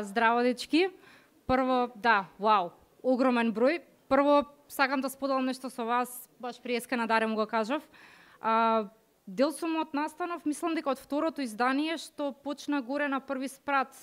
Здраво, дечки. Прво, да, вау, огромен број. Прво, сакам да споделам нешто со вас, баш приеска на Даре му го кажав. Дел сум од настанов, мислам дека од второто издание, што почна горе на први спрат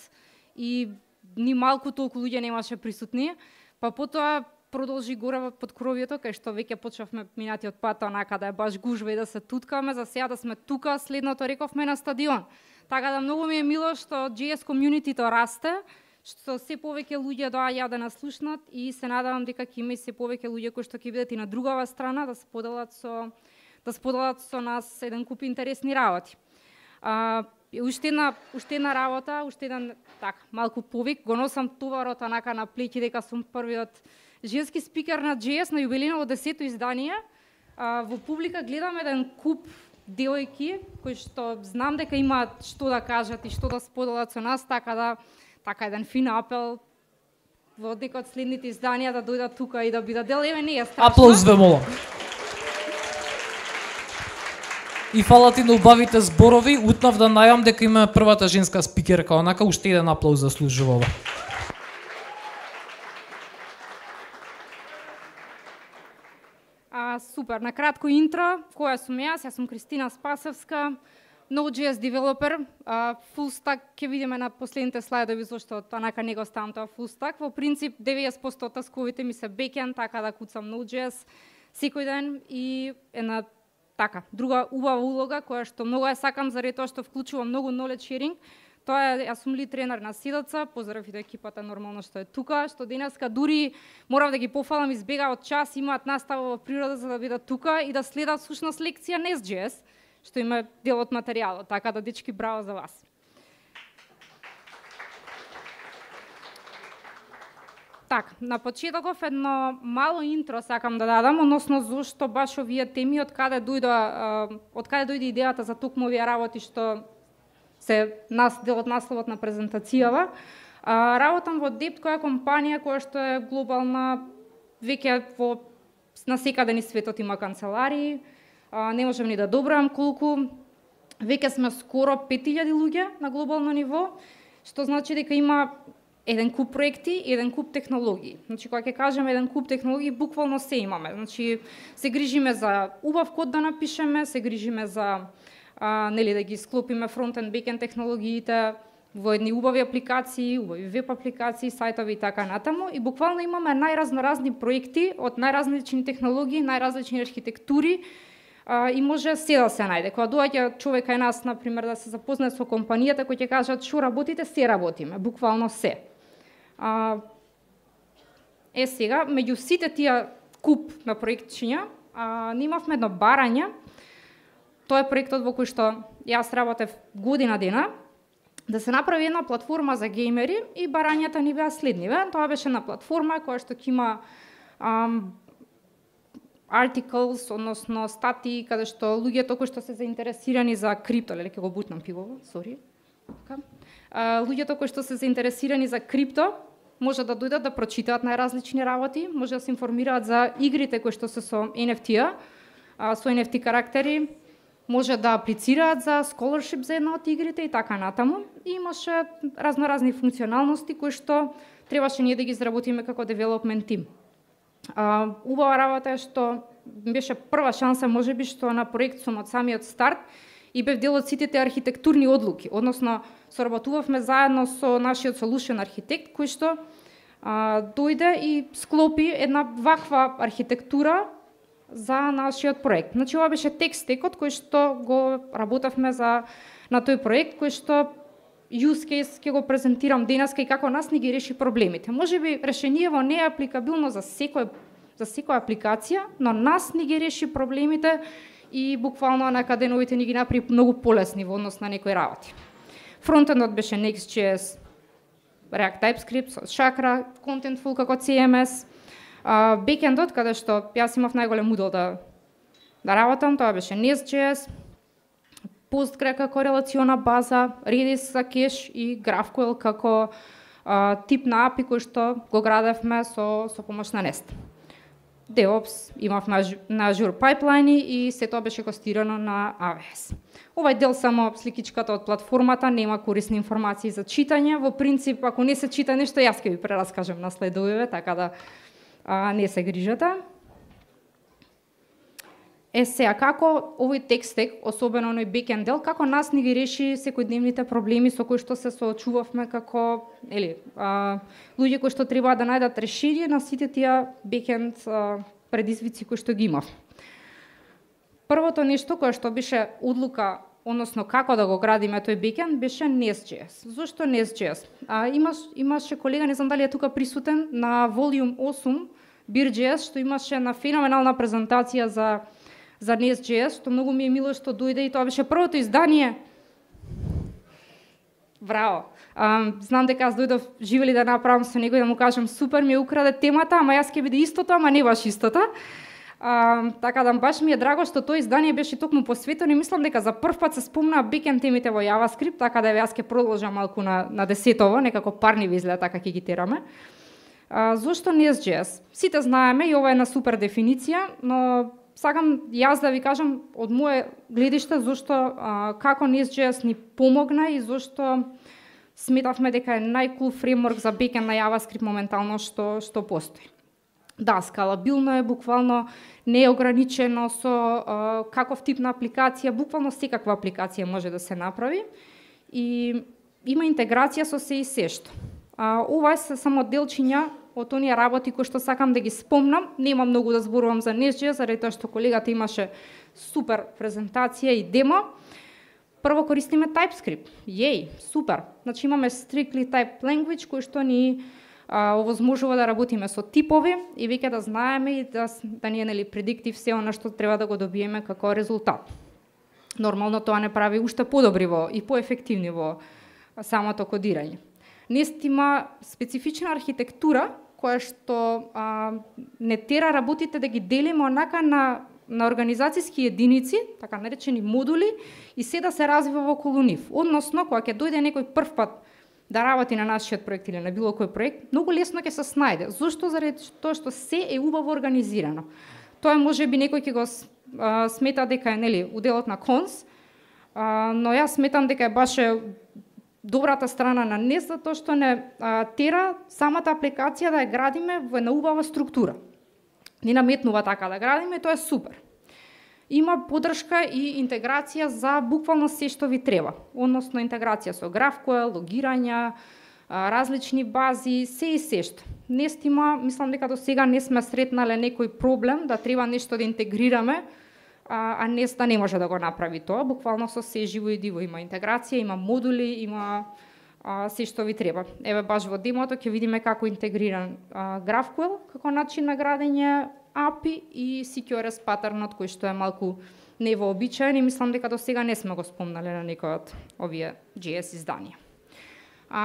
и ни малку толку луѓе немаше присутни, па потоа продолжи горе под кровјето, кај што веќе почнавме минатиот пат, онака да е баш гужва и да се туткаме, за сега да сме тука, следното рековме на стадион. Така да многу ми е мило што JS комјунитито расте, што се повеќе луѓе доаѓаат да нас слушнат и се надевам дека ќе има и се повеќе луѓе кои што ќе бидат и на другава страна да споделат со нас еден куп интересни работи. Уште една работа, уште еден така малку повик, го носам товарот онака на плеќи дека сум првиот женски спикер на JS на јубилејново 10-то издание. Во публика гледам еден куп девојки кои што знам дека имаат што да кажат и што да споделат со нас, така еден фин апел во некој од следните изданија да дојдат тука и да бидат дел. Еве, не е страшно. Аплауз ве молам. И фала ти на убавите зборови, утнав да најавам дека има првата женска спикерка, онака уште еден аплауз заслужува ова. Супер, на кратко интро, која сум јас сум Кристина Спасевска, Node.js девелопер, full stack, ќе видиме на последните слайдови зашто онака не го ставам тоа full stack. Во принцип 90% од тасковите ми се backend, така да куцам Node.js секој ден и една така друга убава улога која што многу ја сакам заради тоа што вклучува многу knowledge sharing. Тоа е, јас сум лид тренер на Сидаца, поздрав и до екипата нормално што е тука, што денеска дури морав да ги пофалам, избегаат час, имаат настава во природа за да бидат тука и да следат всушност лекција на JS, што има дел од материјалот, така да дечки браво за вас. Так, на почетоков едно мало интро сакам да дадам, односно зошто баш овие теми, од каде дојде идејата за токму овие работи што се дел од насловот на презентацијава. Работам во Dept, која е компанија која што е глобална, веќе насекаде низ светот има канцеларии, не можем ни да добрам колку, веќе сме скоро 5000 луѓе на глобално ниво, што значи дека има еден куп проекти и еден куп технологии. Значи, кога ќе кажеме еден куп технологии, буквално се имаме. Значи, се грижиме за убав код да напишеме, се грижиме за да ги склопиме фронтенд, бекенд технологиите во едни убави апликации, убави веб апликации, сајтови и така натаму. И буквално имаме најразноразни проекти од најразлични технологии, најразлични архитектури и може се да се најде. Кога доаѓа човек кај нас, например, да се запознае со компанијата, кои ќе кажат што работите, се работиме, буквално се. Сега, меѓу сите тие куп на проектчиња, имавме едно барање. Тоа е проектот во кој што јас работев година дена, да се направи една платформа за геймери и барањата ни беа следниве. Тоа беше една платформа која што ќе има articles, односно статии, каде што луѓето кои што се заинтересирани за крипто, ќе го бутнам пивово, сори. Луѓето кои што се заинтересирани за крипто може да дојдат да прочитаат најразлични работи, може да се информираат за игрите кои што се со NFT-а, со NFT карактери, може да аплицираат за scholarship за една од игрите и така натаму. И имаше разноразни функционалности кои што требаше ние да ги изработиме како development team. Убава работа е што беше прва шанса можеби што на проект сум од самиот старт и бев дел од сите тие архитектурни одлуки, односно соработувавме заедно со нашиот solution архитект кој што дојде и склопи една ваква архитектура за нашиот проект. Значи, ова беше текст-стекот кој што го работевме на тој проект, кој што use case ќе го презентирам денеска и како нас ни ги реши проблемите. Можеби решението не е апликабилно за секоја апликација, но нас ни ги реши проблемите и буквално на деновите ни ги направи многу полесни во однос на некои работи. Фронтендот беше Next.js, React TypeScript, со Chakra, Contentful како CMS. Бекендот, каде што јас имав најголем удел да работам, тоа беше Nest.js, Postgre како релациона база, Redis за кеш и GraphQL како тип на API кој што го градевме со помош на Nest. DevOps имав на Azure Pipeline и се тоа беше хостирано на AWS. Овај дел само сликичката од платформата, нема корисни информации за читање. Во принцип, ако не се чита нешто, јас ќе ви прераскажам на следовиве, така да не се грижате. Сега, како овој текстек, особено оној бекенд дел, како нас ни ги реши секојдневните проблеми со кои што се соочувавме како луѓе кои што треба да најдат решение на сите тие бекенд предизвици кои што ги имав. Првото нешто кое што беше одлука, односно како да го градиме тој бекенд, беше Nest.js. Зошто Nest.js? Имаше колега, не знам дали е тука присутен, на Volume 8 Beer.js, што имаше една феноменална презентација за Nest.js, што многу ми е мило што дојде и тоа беше првото издание. Браво! Знам дека аз дојдов живели да направам со него и да му кажам супер ми украде темата, ама јас ќе биде истото, ама не баш истото. Така да баш ми е драго што тоа издание беше токму посветено и мислам дека за прв пат се спомнаа бекенд темите во JavaScript, така да јас ќе продолжам малку на десетово, некако парни ви изгледа така ќе ги тераме. Зошто Nest.js? Сите знаеме и ова е една супер дефиниција, но сакам јас да ви кажам од моје гледиште зошто како Nest.js ни помогна и зошто сметавме дека е најкул фреймворк за бекенд на JavaScript моментално што постои. Да, скалабилно е, буквално не е ограничено со каков тип на апликација, буквално секаква апликација може да се направи и има интеграција со се и се што. Ова се само делчиња од оние работи кои што сакам да ги спомнам. Нема многу да зборувам за Nest.js, заради тоа што колегата имаше супер презентација и демо. Прво користиме TypeScript. Супер. Значи имаме strictly type language кој што ни овозможува да работиме со типови и веќе да знаеме и да ни е предиктив се она што треба да го добиеме како резултат. Нормално тоа не прави уште подобри и поефективни во самото кодирање. Nest има специфична архитектура која што не тера работите да ги делиме онака на организацијски единици, така наречени модули, и се да се развива во околу нив. Односно, кога ќе дојде некој прв пат да работи на нашиот проект или на било кој проект, многу лесно ќе се снајде. Зошто? Заради тоа што се е убаво организирано. Тоа можеби некој ќе го смета дека е уделот на конс, но јас сметам дека е баш добрата страна на Nest, затоа што не тера самата апликација да ја градиме во една убава структура. Ни наметнува така да градиме, тоа е супер. Има поддршка и интеграција за буквално се што ви треба. Односно интеграција со GraphQL, логирања, различни бази, се и се што. Nest има, мислам дека до сега не сме сретнале некој проблем да треба нешто да интегрираме, а Nest да не може да го направи тоа. Буквално со се живо и диво има интеграција, има модули, има се што ви треба. Еве баш во демото ќе видиме како интегриран GraphQL како начин на градење API и CQRS патернот кој што е малку невообичаен и мислам дека до сега не сме го спомнале на некој од овие JS изданија.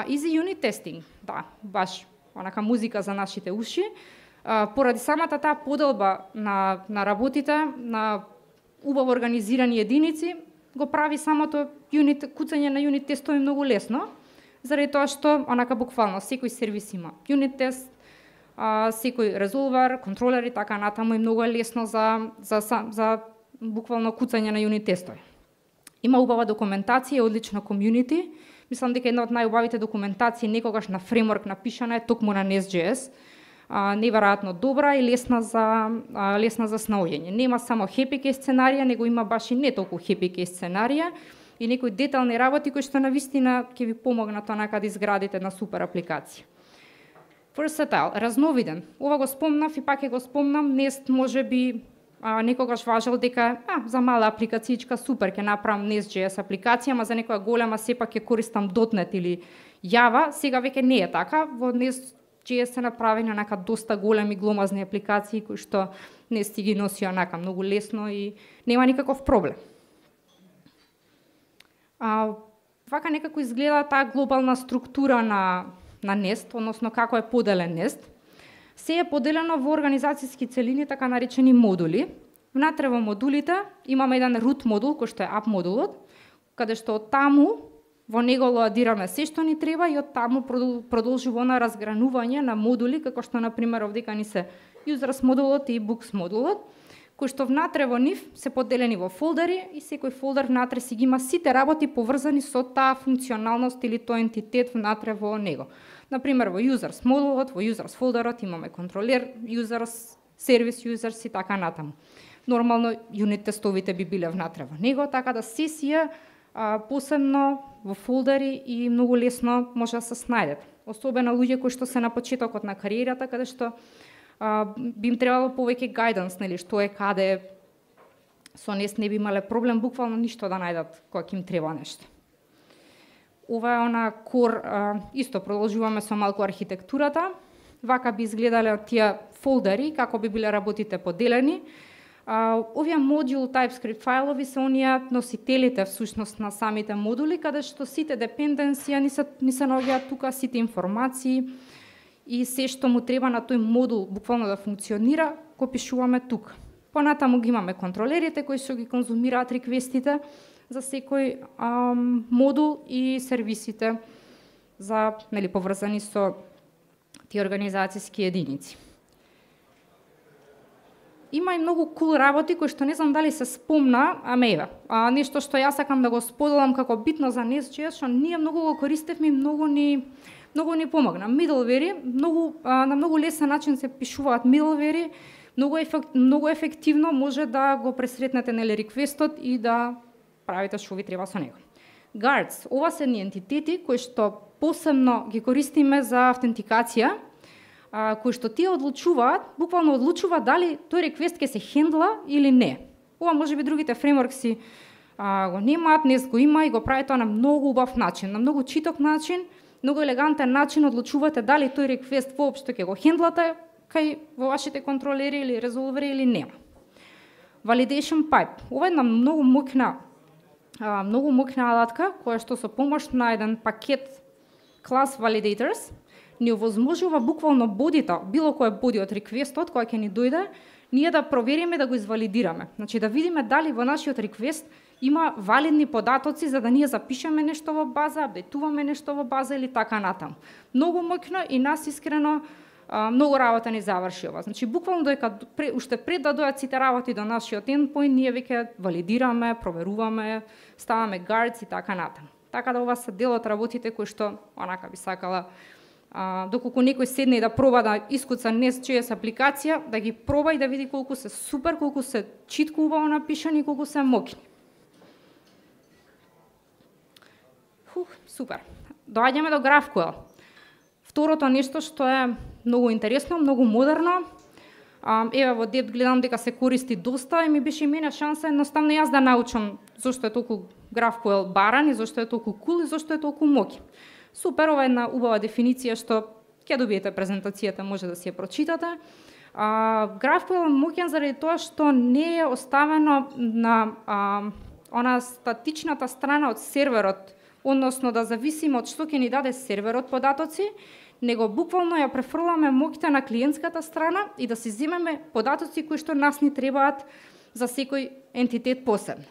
Easy unit testing, да, баш онака музика за нашите уши. Поради самата таа поделба на работите, на убаво организирани единици, го прави самото куцање на юнит тестови многу лесно, заради тоа што онака буквално секој сервис има юнит тест, секој резолвер, контролер и така натаму и многу е лесно за буквално куцање на юнит тестови. Има убава документација, одлично комјунити. Мислам дека една од најубавите документации некогаш на фреймворк напишана е токму на Nest.js. Неверојатно добра и лесна за снаоѓање. Нема само happy case сценарија, него има баш и не толку happy case сценарија и некои детални работи кои што навистина ќе ви помогнат онака да изградите една супер апликација. Versatile, разновиден. Ова го спомнав и пак ќе го спомнам. Nest можеби некогаш важел дека за мала апликацијичка супер ќе направам Nest.js апликација, ама за некоја голема сепак ќе користам .NET или Java. Сега веќе не е така. Во Nest.js се направени онака доста големи гломазни апликации кои што Nest ги носи онака многу лесно и нема никаков проблем. Вака некако изгледа таа глобална структура на Nest, односно како е поделен Nest. Се е поделено во организацијски целини, така наречени модули. Внатре во модулите имаме еден root модул, кој што е app модулот, каде што од таму во него лоадираме се што ни треба и од таму продолжува на разгранување на модули, како што, например, овдека ни се users модулот и books модулот, кои што внатре во нив се поделени во фолдери и секој фолдер внатре си ги има сите работи поврзани со таа функционалност или тој ентитет внатре во него. Например, во users модулот, во users фолдерот имаме контролер, users, сервис users и така натаму. Нормално юнит тестовите би биле внатре во него, така да сесија посебно во фолдери и многу лесно може да се снајдете. Особено луѓе кои што се на почетокот на кариерата, каде што би им требало повеќе гајданс, нели, што е каде, со нес не би имале проблем буквално ништо да најдат кога им треба нешто. Ова е она кор, исто продолжуваме со малку архитектурата. Вака би изгледале тие фолдери, како би биле работите поделени. Овие модул TypeScript фајлови се оние носителите всушност на самите модули, каде што сите депенденсија ни се наоѓаат тука, сите информации и се што му треба на тој модул буквално да функционира, го пишуваме тука. Понатаму ги имаме контролерите кои што ги конзумираат реквестите за секој модул и сервисите за, нели, поврзани со тие организацијски единици. Има и многу кул работи кои што не знам дали се спомна, еве, нешто што јас сакам да го споделам како битно за Nest.js, што ние многу го користевме и многу ни помогна. Middleware, на многу лесен начин се пишуваат middleware, многу ефективно може да го пресретнете, нели, реквестот и да правите што ви треба со него. Guards, ова се ни ентитети кои што посебно ги користиме за автентикација, кои што тие одлучуваат, буквално одлучуваат дали тој реквест ќе се хендла или не. Ова може би другите фреймворкси го немаат, Nest го има и го прави тоа на многу убав начин, на многу читок начин, многу елегантен начин одлучувате дали тој реквест воопшто ќе го хендлате кај во вашите контролери или резолвери или нема. Validation pipe. Ова е една многу моќна алатка која што со помош на еден пакет class validators ни овозможува буквално бодито, било кој боди од реквестот кој ќе ни дојде, ние да провериме да го извалидираме. Значи да видиме дали во нашиот реквест има валидни податоци за да ние запишеме нешто во база, апдейтуваме нешто во база или така натаму. Многу моќно и нас искрено многу работа ни заврши ова. Значи буквално уште пред да дојдат сите работи до нашиот endpoint, ние веќе валидираме, проверуваме, ставаме guards и така натаму. Така да ова се дел од работите кои што онака би сакала доколку некој седне и да проба да искуца Nest.js апликација, да ги проба и да види колку се супер, колку се читко убаво напишани и колку се моќни. Супер. Доаѓаме до GraphQL. Второто нешто што е многу интересно, многу модерно. Еве во Dept гледам дека се користи доста и ми беше мене шанса едноставно јас да научам зошто е толку GraphQL баран и зошто е толку кул и зошто е толку моќен. Супер, ова е една убава дефиниција што ќе добиете презентацијата, може да си ја прочитате. GraphQL е моќен заради тоа што не е оставено на она статичната страна од серверот, односно да зависиме од што ќе ни даде серверот податоци, него буквално ја префрламе моќта на клиентската страна и да си земеме податоци кои што нас ни требаат за секој ентитет посебно.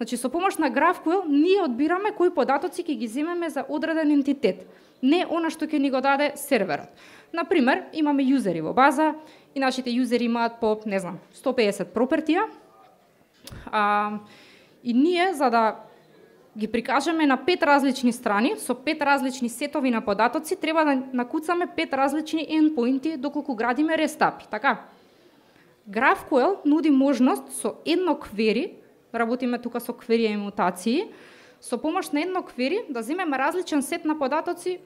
Значи, со помош на GraphQL, ние одбираме кои податоци ќе ги земеме за одреден ентитет, не она што ќе ни го даде серверот. Например, имаме юзери во база и нашите юзери имаат по, не знам, 150 пропертија, и ние, за да ги прикажеме на 5 различни страни, со 5 различни сетови на податоци, треба да накуцаме 5 различни endpointi доколку градиме рестапи, така? GraphQL нуди можност со едно query, работиме тука со query и мутации, со помош на едно query да земеме различен сет на податоци,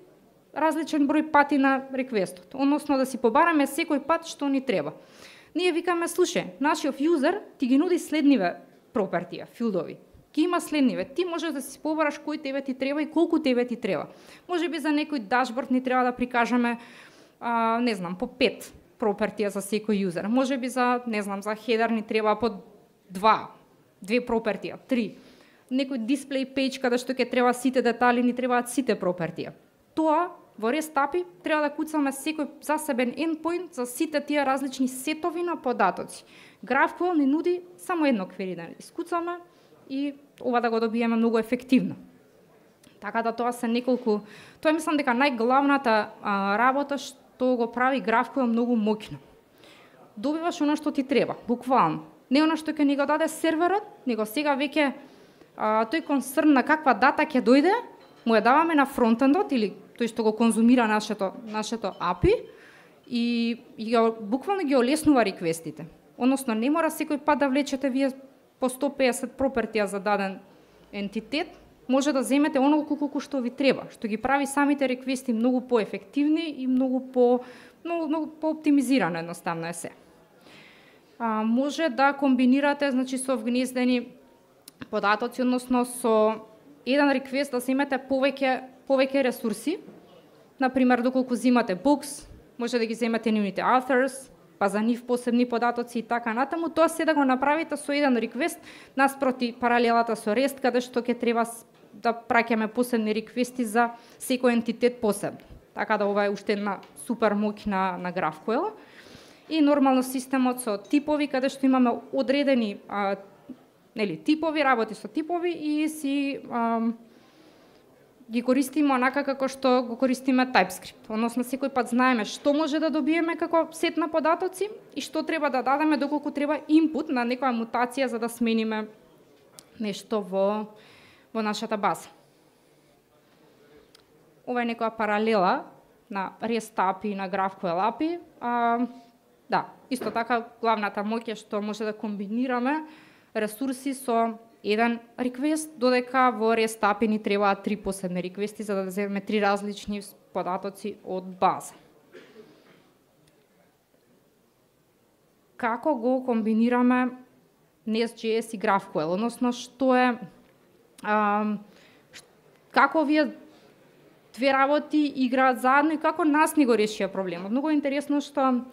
различен број пати на реквестот, односно да си побараме секој пат што ни треба. Ние викаме, слушај, нашиот юзер ти ги нуди следниве пропертија, филдови. Ги има следниве. Ти можеш да си побараш кој тебе ти треба и колку тебе ти треба. Може би за некој дашборд ни треба да прикажеме, не знам, по 5 пропертија за секој юзер. Може би за, не знам, за хедер ни треба по 2 пропертија, 3. Некој дисплей пејдж каде што ќе треба сите детали, ни требаат сите пропертија. Тоа во REST API треба да куцаме секој засебен endpoint за сите тие различни сетови на податоци. GraphQL ни нуди само едно query да искуцаме и ова да го добиеме многу ефективно. Така да тоа се неколку, тоа мислам дека најглавната работа што го прави GraphQL многу моќно. добиваш она што ти треба, буквално. Не она што ќе ни го даде серверот, него сега веќе тој концерн на каква дата ќе дојде, му ја даваме на фронтендот или тој што го конзумира нашето API и буквално ги олеснува реквестите. Односно, не мора секој пат да влечете вие по 150 пропертија за даден ентитет, може да земете онолку колку што ви треба, што ги прави самите реквести многу поефективни и многу по-оптимизирано, едноставно е се. Може да комбинирате, значи, со вгнездени податоци, односно со еден реквест да земете повеќе ресурси. Например, доколку земате books, може да ги земете нивните authors, па за нив посебни податоци и така натаму, тоа се да го направите со еден реквест наспроти паралелата со REST, каде што ќе треба да праќаме посебни реквести за секој ентитет посебно. Така да ова е уште една супер моќ на GraphQL. И нормално системот со типови, каде што имаме одредени типови, работи со типови и си ги користиме онака како што го користиме TypeScript. Односно, секој пат знаеме што може да добиеме како сет на податоци и што треба да дадеме доколку треба инпут на некоја мутација за да смениме нешто во нашата база. Ова е некоја паралела на REST API и на GraphQL API. Да, исто така главната моќ е што може да комбинираме ресурси со еден реквест, додека во REST API ни требаат 3 посебни реквести за да земеме 3 различни податоци од база. Како го комбинираме Nest.js и GraphQL, односно што е како овие две работи играат заедно и како нас ни го решија проблемот. Многу интересно што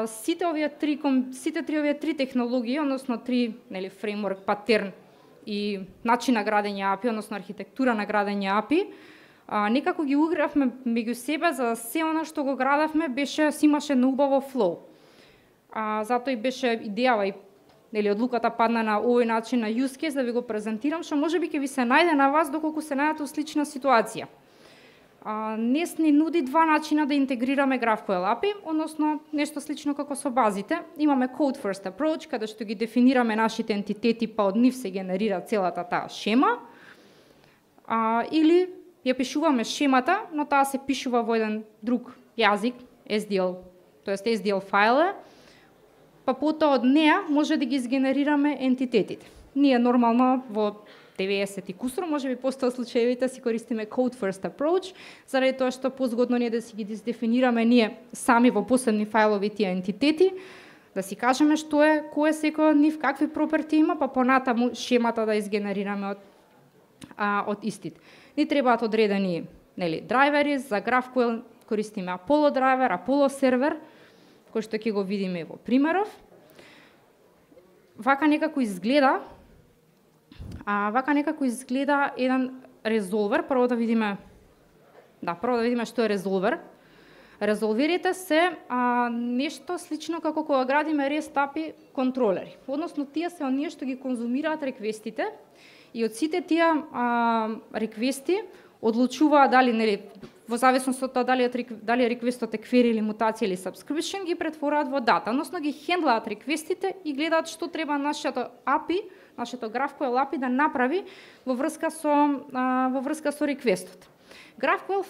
сите овие три технологии, односно три фреймворк, патерн и начин на градење API, односно архитектура на градење API, некако ги угравме меѓу себе за се она што го градевме си имаше на убаво флоу. Затоа и беше идејава и одлуката падна на овој начин на use case да ви го презентирам, што можеби ќе ви се најде на вас доколку се најдете во слична ситуација. Nest ни нуди два начина да интегрираме GraphQL API, односно нешто слично како со базите. Имаме Code First Approach, каде што ги дефинираме нашите ентитети, па од нив се генерира целата таа шема. Или ја пишуваме шемата, но таа се пишува во еден друг јазик, SDL, тоест SDL файл, па потоа од неа може да ги изгенерираме ентитетите. Ние нормално во 90 и кусур, може би постојат случаевите си користиме Code First Approach, заради тоа што позгодно ние да си ги дефинираме ние сами во посебни фајлови тие ентитети, да си кажеме што е, кој е секој од нив, какви проперти има, па понатаму шемата да изгенерираме од истите. Ни требаат одредени драйвери, за GraphQL користиме Apollo драйвер, Apollo сервер, кој што ќе го видиме во примеров. Вака некако изгледа еден резолвер. Прво да видиме што е резолвер. Резолверите се нешто слично како кога градиме REST API контролери. Односно, тие се оние што ги конзумираат реквестите и од сите тие реквести одлучуваат дали, во зависност од тоа дали реквестот е query или мутација или subscription, ги претвораат во дата, односно ги хендлаат реквестите и гледаат што треба нашето API, нашето GraphQL API да направи во врска со реквестот. GraphQL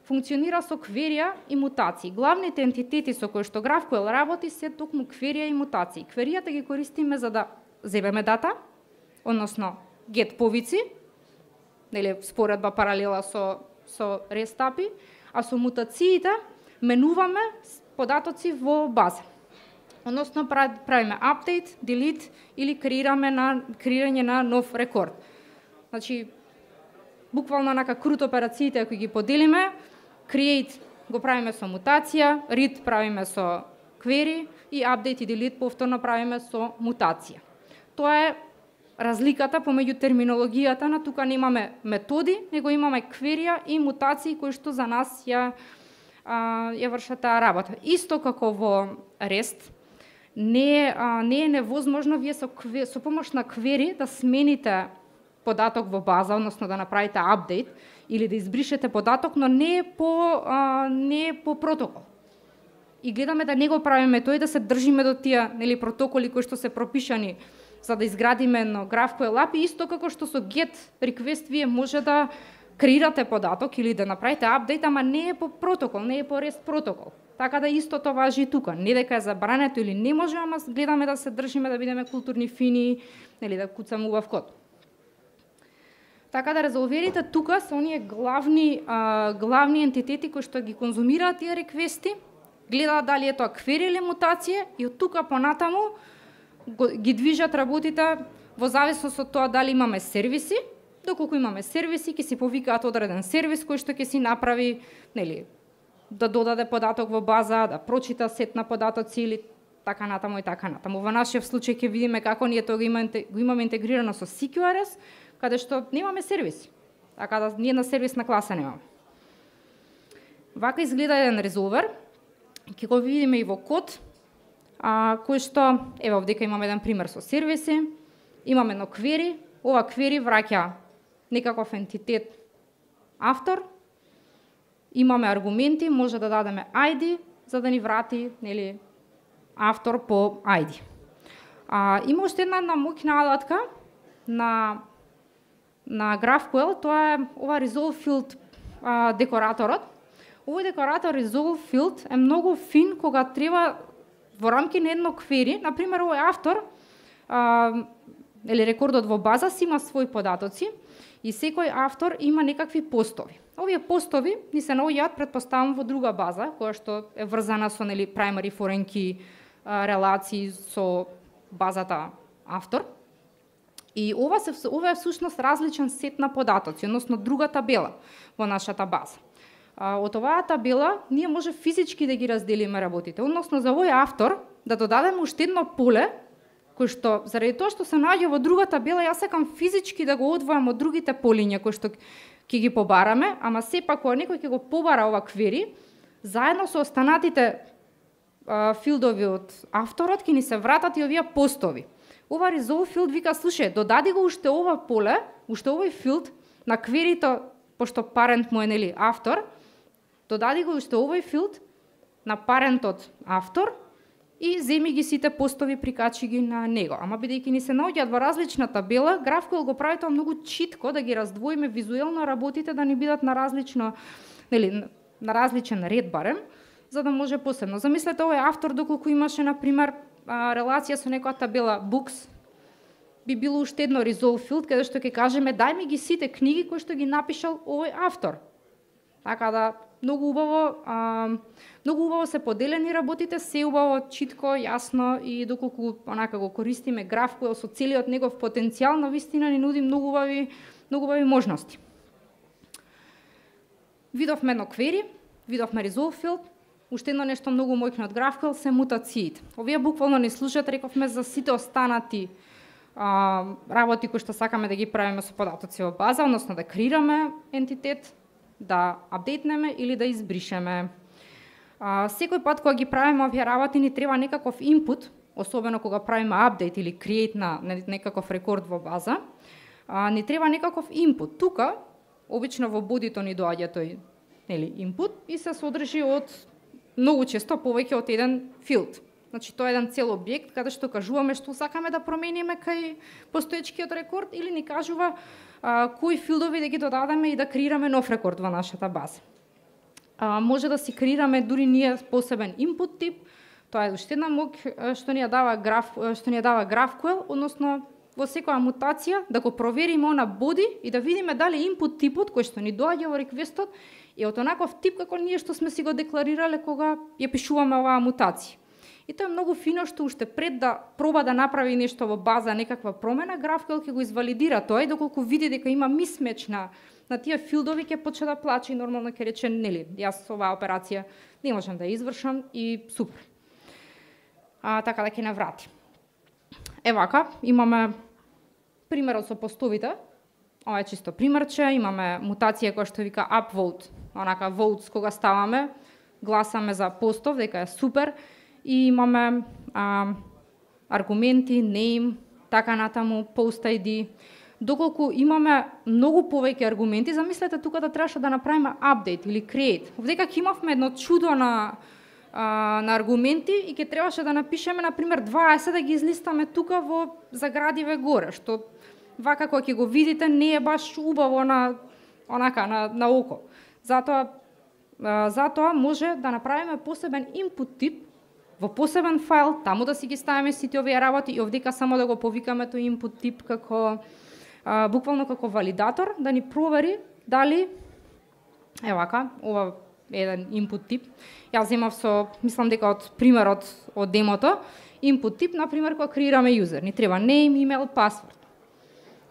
функционира со кверија и мутации. Главните ентитети со кои што GraphQL работи се токму кверија и мутации. Кверијата ги користиме за да земеме дата, односно get повици, споредба паралела со REST API, а со мутациите менуваме податоци во база. Односно правиме update, delete или креирање на нов рекорд. Значи, буквално онака крут операциите кои ги поделиме, create го правиме со мутација, read правиме со query и update и delete повторно правиме со мутација. Тоа е разликата помеѓу терминологијата на тука немаме методи, него имаме кверија и мутации кои што за нас ја вршат таа работа. Исто како во REST, не е невозможно вие со помош на query да смените податок во база, односно да направите апдейт или да избришете податок, но не е по протокол. и гледаме да не го правиме тој, да се држиме до тие, нели, протоколи кои што се пропишани за да изградиме едно GraphQL API, исто како што со GET request вие може да креирате податок или да направите апдейт, ама не е по протокол, не е по REST протокол. Така да истото важи и тука. Не дека е забрането или не може, ама гледаме да се држиме, да бидеме културни, фини, нели, да куцаме убав код. Така да резолверите тука се оние главни ентитети кои што ги конзумираат тие реквести, гледаат дали е тоа квери или мутација и од тука понатаму ги движат работите во зависност од тоа дали имаме сервиси. Доколку имаме сервиси, ќе си повикаат одреден сервис кој што ќе си направи, нели, да додаде податок во база, да прочита сет на податоци или така натаму и така натаму. Во нашиот случај ќе видиме како ние тоа го имаме интегрирано со CQRS, каде што немаме сервиси. Така да ние на сервисна класа немаме. Вака изгледа еден резолвер. Ќе го видиме и во код, кој што, ево овдека имаме еден пример со сервиси, имаме едно query, ова query враќа некаков ентитет автор, имаме аргументи, може да дадеме ID за да ни врати, нели, автор по ID. Има уште една моќна алатка на GraphQL, тоа е ова resolve field декораторот. Овој декоратор resolve field е многу фин кога треба во рамки на едно query, на пример овој автор или рекордот во база си има своји податоци и секој автор има некакви постови. Овие постови ни се наоѓаат, претпоставам, во друга база, која што е врзана со, нели, primary foreign key релации со базата автор. И ова е всушност различен сет на податоци, односно друга табела во нашата база. Од оваа табела ние може физички да ги разделиме работите, односно за овој автор да додадеме уште едно поле кој што, заради тоа што се наоѓа во друга табела, јас сакам физички да го одвојам од другите полиња кои што ќе ги побараме, ама сепак кога некој ќе го побара ова квери, заедно со останатите филдови од авторот ќе ни се вратат и овие постови. Ова resolve field вика, слушај, додади го уште ова поле, уште овој филд на кверито, пошто парент му е, нели, автор, додади го уште овој филд на парентот автор и земи ги сите постови, прикачи ги на него. Ама бидејќи ни се наоѓаат во различна табела, GraphQL го прави тоа многу читко да ги раздвоиме визуелно работите, да ни бидат на различно, нели, на различен ред барем, за да може посебно. Замислете овој автор доколку имаше на пример релација со некоја табела books, би било уште едно resolve field каде што ќе кажеме дај ми ги сите книги кои што ги напишал овој автор. Така да многу убаво се поделени работите, се убаво, читко, јасно и доколку онака го користиме GraphQL со целиот негов потенцијал, навистина ни нуди многу убави можности. Видовме едно query, видовме resolve field, уште едно нешто многу моќно од GraphQL се мутациите. Овие буквално не служат, рековме, за сите останати работи кои што сакаме да ги правиме со податоци во база, односно да креираме ентитет, да апдейтнеме или да избришеме. Секој пат кога ги правиме овие работи ни треба некаков инпут, особено кога правиме апдейт или create на некаков рекорд во база, ни треба некаков инпут. Тука обично во бодито ни доаѓа тој, нели, инпут и се содржи од многу често повеќе од еден филд. Значи тоа е еден цел објект каде што кажуваме што сакаме да промениме кај постоечкиот рекорд или ни кажува кои филдови да ги додадеме и да креираме нов рекорд во нашата база. Може да си креираме дури ние посебен input тип. Тоа е уште една моќ што ни ја дава GraphQL, односно во секоја мутација да го провериме она боди и да видиме дали input типот кој што ни доаѓа во реквестот е од онаков тип како ние што сме си го декларирале кога ја пишуваме оваа мутација. И тоа е многу фино што уште пред да проба да направи нешто во база, некаква промена, GraphQL ќе го извалидира тоа и доколку види дека има мисмеч на тие филдови ќе почне да плаче и нормално ќе рече нели, јас оваа операција не можам да ја извршам и супер. Така да ќе не врати. Вака, имаме примерот со постовите. Ова е чисто примерче, имаме мутација која што вика upvote, онака votes кога ставаме, гласаме за постов дека е супер. И имаме аргументи, name, така натаму, post ID. Доколку имаме многу повеќе аргументи, замислете тука да требаше да направиме update или create. Овдека ќе имавме едно чудо на на аргументи и ќе требаше да напишеме на пример 20 да ги излистаме тука во заградиве горе, што вака кога ќе го видите не е баш убаво на око. Затоа може да направиме посебен input тип во посебен файл, таму да си ги ставиме сите овие работи и овдека само да го повикаме тој input тип како буквално како валидатор да ни провери дали ова е еден input тип. Јас земав мислам дека од примерот од демото, input тип на пример кога креираме юзер, ни треба name, email, password.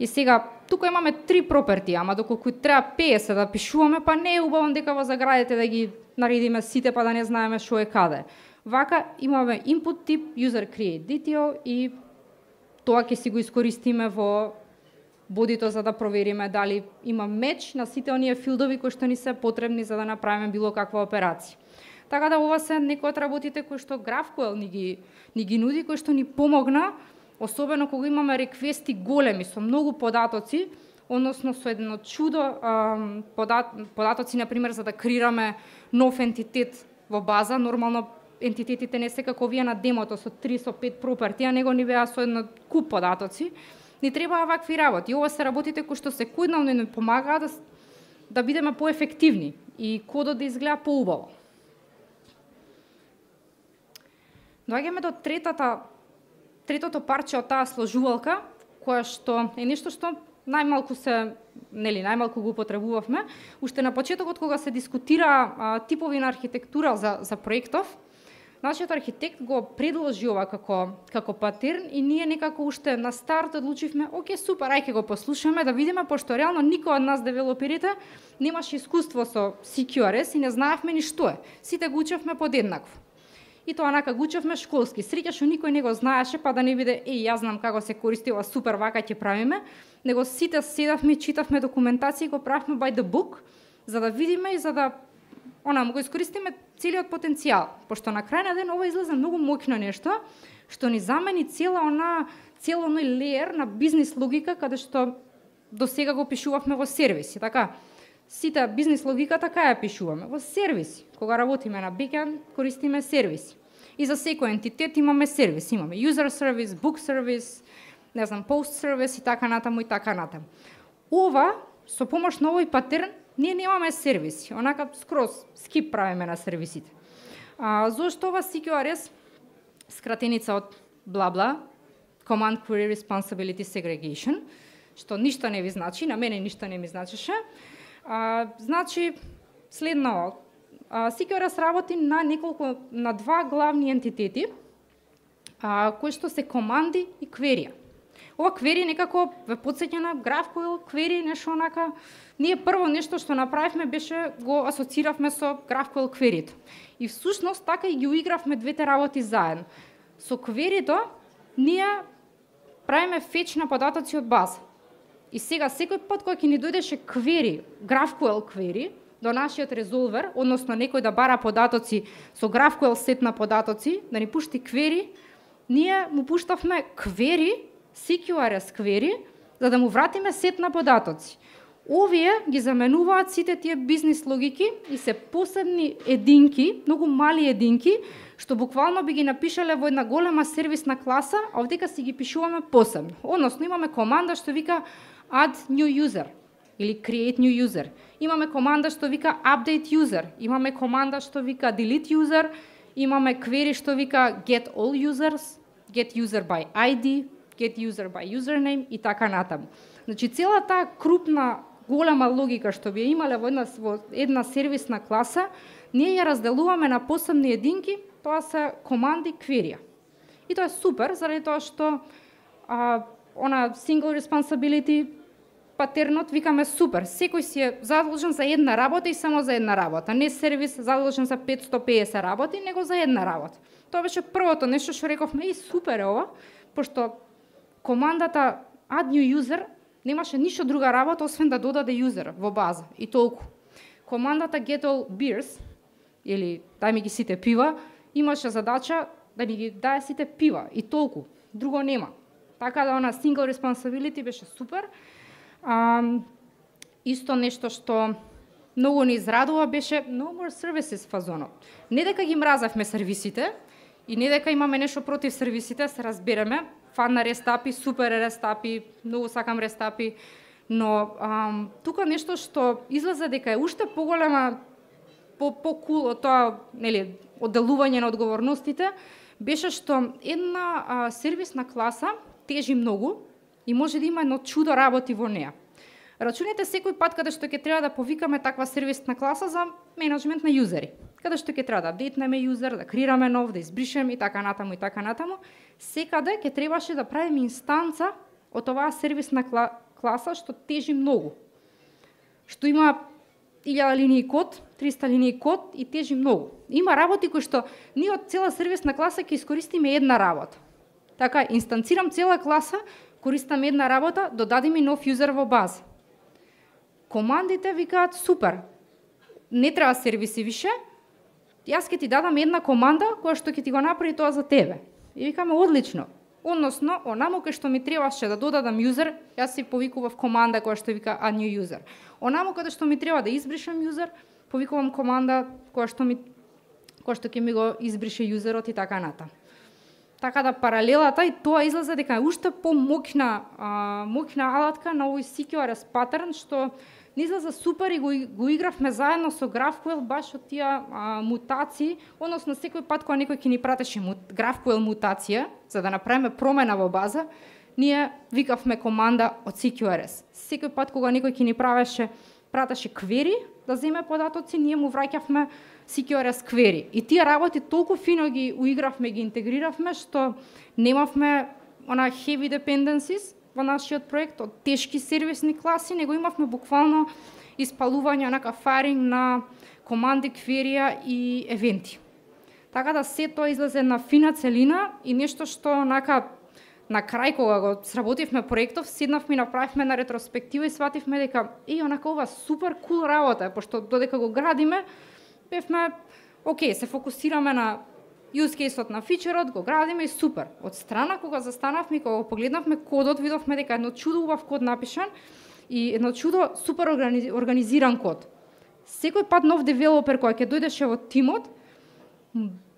И сега тука имаме 3 проперти, ама доколку треба 50 да пишуваме, па не е убаво дека во заградите да ги наредиме сите па да не знаеме што е каде. Вака имаме input тип, user create detail и тоа ќе си го искористиме во бодито за да провериме дали има меч на сите оние филдови кои што ни се потребни за да направиме било каква операција. Така да ова се некои од работите кои што GraphQL ни ги нуди, кои што ни помогна, особено кога имаме реквести големи со многу податоци, односно со едно чудо податоци на пример за да креираме нов ентитет во база, нормално ентитетите не се како вие на демото со 3 со 5 проперти, а него ни беа со едно куп податоци. Ни требаа вакви работи. Ова се работите кои што секојдневно ни помагаат да бидеме поефективни и кодот да изгледа поубаво. Доаѓаме до третото парче од таа сложувалка, која што е нешто што најмалку го употребувавме. Уште на почетокот кога се дискутира типови на архитектура за проектов, нашиот архитект го предложи ова како патерн и ние некако уште на старт одлучивме, оке, супер, ајде го послушаме да видиме, пошто реално никој од нас девелоперите немаше искуство со CQRS и не знаевме ни што е. Сите го учевме подеднакво. И тоа онака го учевме школски. Среќа што никој не го знаеше, па да не биде, јас знам како се користи ова, супер, вака ќе правиме, него сите седавме, читавме документација и го правевме by the book, за да видиме и за да му го искористиме целиот потенцијал, пошто на крај на ден ова излезе многу моќно нешто, што ни замени цел оној леер на бизнис логика, каде што до сега го пишувавме во сервиси, така? Сите бизнис логика така ја пишуваме во сервиси. Кога работиме на бекенд, користиме сервиси. И за секој ентитет имаме сервис, имаме user service, book service, post service и така натаму и така натаму. Ова со помош на овој патерн ние немаме сервиси, онака скроз скип правиме на сервисите. Зошто ова CQRS, скратеница од бла-бла, Command Query Responsibility Segregation, што ништо не ви значи, на мене ништо не ми значеше, значи следно, CQRS работи на два главни ентитети, кои што се команди и кверија. Ова query некако ве потсеќа на GraphQL query, нешто онака. Ние прво нешто што направивме беше го асоцииравме со GraphQL query-то. И всушност така и ги уигравме двете работи заедно. Со query-то ние правиме фетч на податоци од база. И сега секој пат кога ќе ни дојдеше query, GraphQL query до нашиот резолвер, односно некој да бара податоци со GraphQL сет на податоци, да ни пушти query, ние му пуштавме query, CQRS query, за да му вратиме сет на податоци. Овие ги заменуваат сите тие бизнис логики и се посебни единки, многу мали единки, што буквално би ги напишале во една голема сервисна класа, а овдека си ги пишуваме посебно. Односно имаме команда што вика add new user или create new user. Имаме команда што вика update user, имаме команда што вика delete user, имаме query што вика get all users, get user by ID, get user by username и така натаму. Значи цела таа крупна голема логика што би имале во една сервисна класа, ние ја разделуваме на посебни единки, тоа се команди query. И тоа е супер, заради тоа што single responsibility патернот викаме супер. Секој си е задолжен за една работа и само за една работа. Не сервис задолжен за 550 работи, него за една работа. Тоа беше првото нешто што рековме, супер е ова, пошто командата add new user немаше ништо друга работа освен да додаде юзер во база и толку. Командата get all beers или дај ми ги сите пива имаше задача да ни ги даде сите пива и толку. Друго нема. Така да она single responsibility беше супер. Исто нешто што многу ни израдува беше no more services фазонот. Не дека ги мразевме сервисите и не дека имаме нешто против сервисите, се разбереме, фан на рестапи, супер рестапи, многу сакам рестапи, но тука нешто што излезе дека е уште поголема по-кул од тоа, нели, одделување на одговорностите, беше што една сервисна класа тежи многу и може да има едно чудо работи во неа. Рачунете секој пат каде што ќе треба да повикаме таква сервисна класа за менеджмент на јузери. Каде што ќе треба да апдейтнеме јузер, да креираме нов, да избришеме и така натаму, секаде ќе требаше да правиме инстанца од оваа сервисна класа што тежи многу. Што има 1000 линии код, 300 линии код и тежи многу. Има работи кои што ние од цела сервисна класа ќе искористиме една работа. Така, инстанцирам цела класа, користам една работа, додади ми нов јузер во база. Командите викаат супер. Не треба сервиси више. Јас ќе ти дадам една команда која што ќе ти го направи тоа за тебе. И викаме одлично. Односно, онаму кај што ми требаше да додадам јузер, јас си повикував команда која што вика a new user. Онаму каде што ми треба да избришам јузер, повикувам команда која што ќе ми го избрише јузерот и така натаму. Така да паралелата и тоа излезе дека е уште по-моќна алатка на овој CQRS паттерн што не излезе супер и го игравме заедно со GraphQL баш од тие мутации, односно секој пат кога некој ќе ни пратеше GraphQL мутација за да направиме промена во база, ние викавме команда од CQRS. Секој пат кога некој ќе ни пратеше query да земе податоци, ние му враќавме CQRS query. И тие работи толку фино ги уигравме, ги интегриравме, што немавме heavy dependencies во нашиот проект од тешки сервисни класи, него имавме буквално испалување на фаринг на команди, query и евенти. Така да се тоа излезе на фина целина и нешто што на крај кога го сработивме проектов, седнавме и направивме на ретроспектива и свативме дека ова супер кул работа, пошто додека го градиме, бевме, се фокусираме на use case-от на фичерот, го градиме и супер. Од страна, кога застанавме и кога го погледнавме кодот, видовме дека едно чудо убав код напишан и едно чудо супер организиран код. Секој пат нов девелопер кој ќе дојдеше во тимот,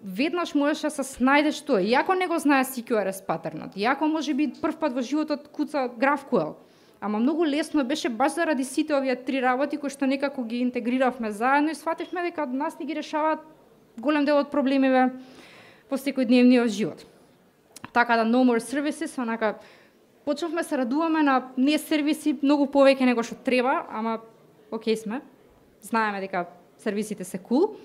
веднаш можеше да се снајде што е. Иако не го знае CQRS паттернот, иако може би прв пат во животот куца GraphQL, ама многу лесно беше баш заради сите овие три работи кои што некако ги интегриравме заедно и свативме дека нас ни ги решаваат голем дел од проблемиве во секојдневниот живот. Така да no more services, почнавме се радуваме на не сервиси многу повеќе него што треба, ама сме. Знаеме дека сервисите се cool.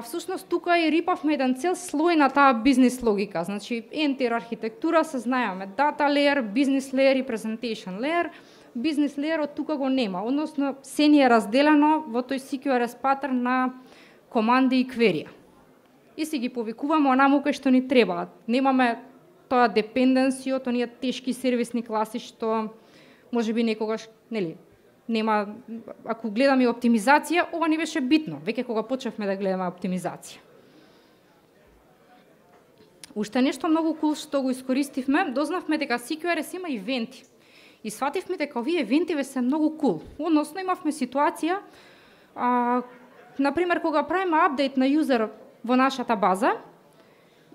Всушност тука и рипавме еден цел слој на таа бизнес логика. Значи, entire архитектура се знаеме, data layer, business layer и presentation layer. Business layer од тука го нема, односно се ни е разделено во тој CQRS паттерн на команди и query. И си ги повикуваме онаму кај што ни требаат. Немаме тоа dependency од оние тешки сервисни класи што можеби некогаш, нема, ако гледаме оптимизација, ова не беше битно, веќе кога почнавме да гледаме оптимизација. Уште нешто многу кул што го искористивме, дознавме дека CQRS има ивенти. И свативме дека овие ивентиве се многу кул. Односно имавме ситуација, например, кога правиме апдейт на јузер во нашата база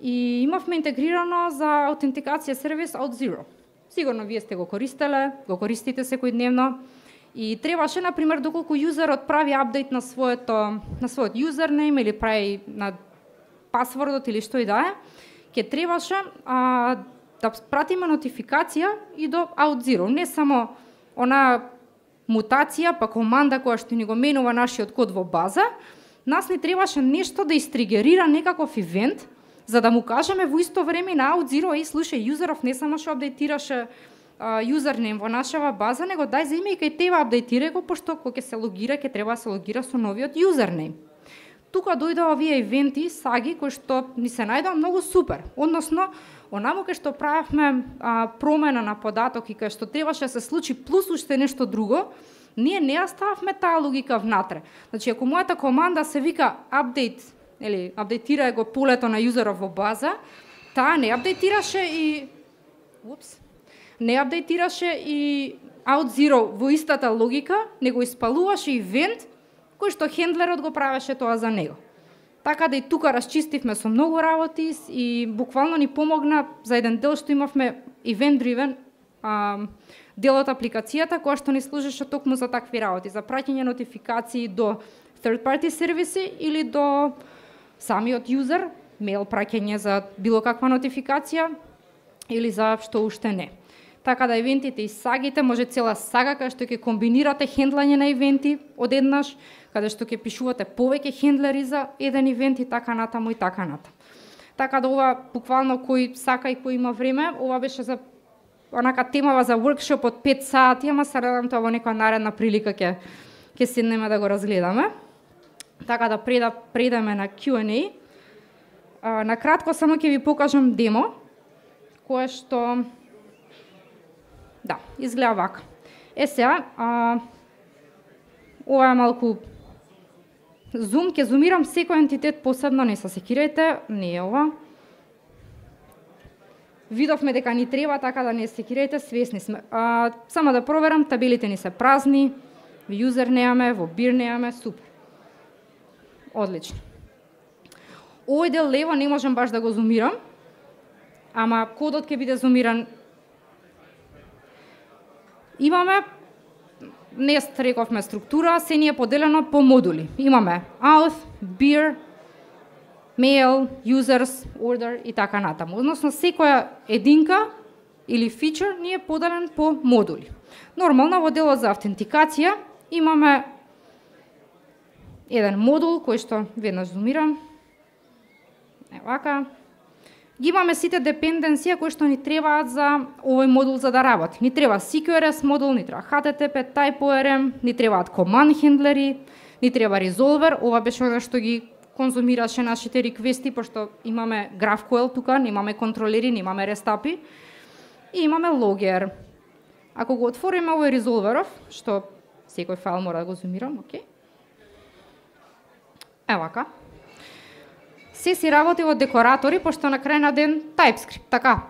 и имавме интегрирано за аутентикација сервис Auth0. Сигурно вие сте го користите секојдневно. И требаше, например, доколку јузерот прави апдейт на својот юзернейм или прави на пасвордот или што и да е, ќе требаше да пратиме нотификација и до Auth0. Не само она мутација, па команда која што ни го менува нашиот код во база, нас ни требаше нешто да истригерира некаков ивент, за да му кажеме во исто време на Auth0, слушај, јузеров не само што апдейтираше юзернейм во нашава база, него дај земи и кај тебе апдейтирај го, пошто кога ќе се логира, ќе треба да се логира со новиот юзернейм. Тука дојдоа овие ивенти, саги, кои што ни се најдоа многу супер. Односно, онаму кај што правевме промена на податок и кај што требаше да се случи плюс уште нешто друго, ние не остававме таа логика внатре. Значи, ако мојата команда се вика апдейт, апдейтира го полето на юзеров во база, таа не апдейтираше и OutZero во истата логика, него испалуваше ивент кој што хендлерот го правеше тоа за него. Така да и тука расчистивме со многу работи и буквално ни помогна за еден дел што имавме event driven дел од апликацијата која што ни служеше токму за такви работи, за праќање нотификации до third party сервиси или до самиот юзер, мейл праќање за било каква нотификација или за што уште не. Така да ивентите и сагите може цела сага каде што ќе комбинирате хендлање на ивенти одеднаш, каде што ќе пишувате повеќе хендлери за еден ивент и така натаму и така натаму. Така да ова буквално кој сака и кој има време, ова беше за онака темава за workshop од 5 сати, ама се надам тоа во некоја наредна прилика ќе седнеме да го разгледаме. Така да предаме на Q&A. На кратко само ќе ви покажам демо кое што изгледа вака. Сега, ова е малку зум, ќе зумирам секој ентитет посебно, не се секирајте, не е ова. Видовме дека ни треба, така да не секирајте, свесни сме. Само да проверам, табелите ни се празни, во юзер неаме, во бир неаме, супер. Одлично. Овој дел лево не можам баш да го зумирам, ама кодот ќе биде зумиран. Имаме, нест рековме структура, се ни е поделено по модули. Имаме auth, beer, mail, users, order и така натаму. Односно, секоја единка или фичер ни е поделен по модули. Нормално, во делот за автентикација имаме еден модул кој што веднаш зумирам. Вака. Ги имаме сите депенденции кои што ни требаат за овој модул за да работи. Ни треба CQRS модул, ни треба HTTP, TypeORM, ни требаат command хендлери, ни треба resolver. Ова беше она што ги конзумираше нашите реквести, пошто имаме GraphQL тука, немаме контролери, немаме рестапи и имаме logger. Ако го отвориме овој resolverов, што секој файл мора да го зумирам, окей. Вака. Се си работи во декоратори, пошто на крај на ден TypeScript, така.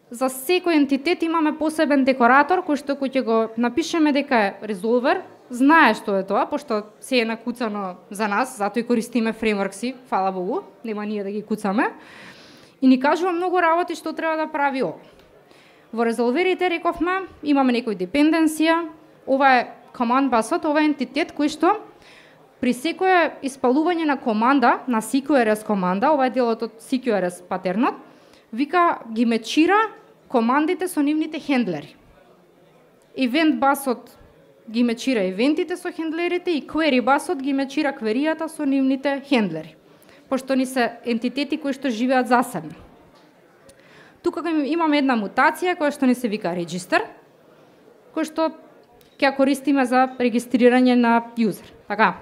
За секој ентитет имаме посебен декоратор, кој што ќе го напишеме дека е resolver, знае што е тоа, пошто се е накуцано за нас, затоа и користиме фреймворкси, фала Богу, нема ние да ги куцаме, и ни кажува многу работи што треба да прави ова. Во резолверите, рековме, имаме некој депенденција, ова е command busот, ова е ентитет кој што при секое испалување на команда, на CQRS команда, ова е делот од CQRS патернот, вика ги мечира командите со нивните хендлери. Event басот ги мечира евентите со хендлерите и query басот ги мечира кверијата со нивните хендлери, пошто ни се ентитети кои што живеат засебно. Тука имаме една мутација која што ни се вика register, кој што ќе ја користиме за регистрирање на юзер. Така.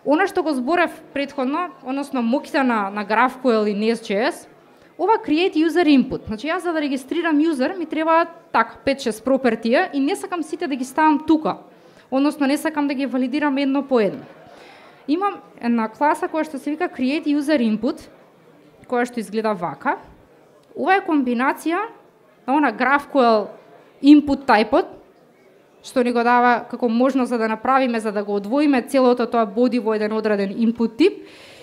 Она што го зборев претходно, односно моките на GraphQL и Nest.js, ова create user input. Значи јас за да регистрирам юзер ми треба така 5-6 пропертија и не сакам сите да ги ставам тука. Односно не сакам да ги валидирам едно по едно. Имам една класа која што се вика create user input, која што изгледа вака. Ова е комбинација на она GraphQL input type-от, што ни го дава како можност за да направиме, за да го одвоиме целото тоа body во еден одреден input тип,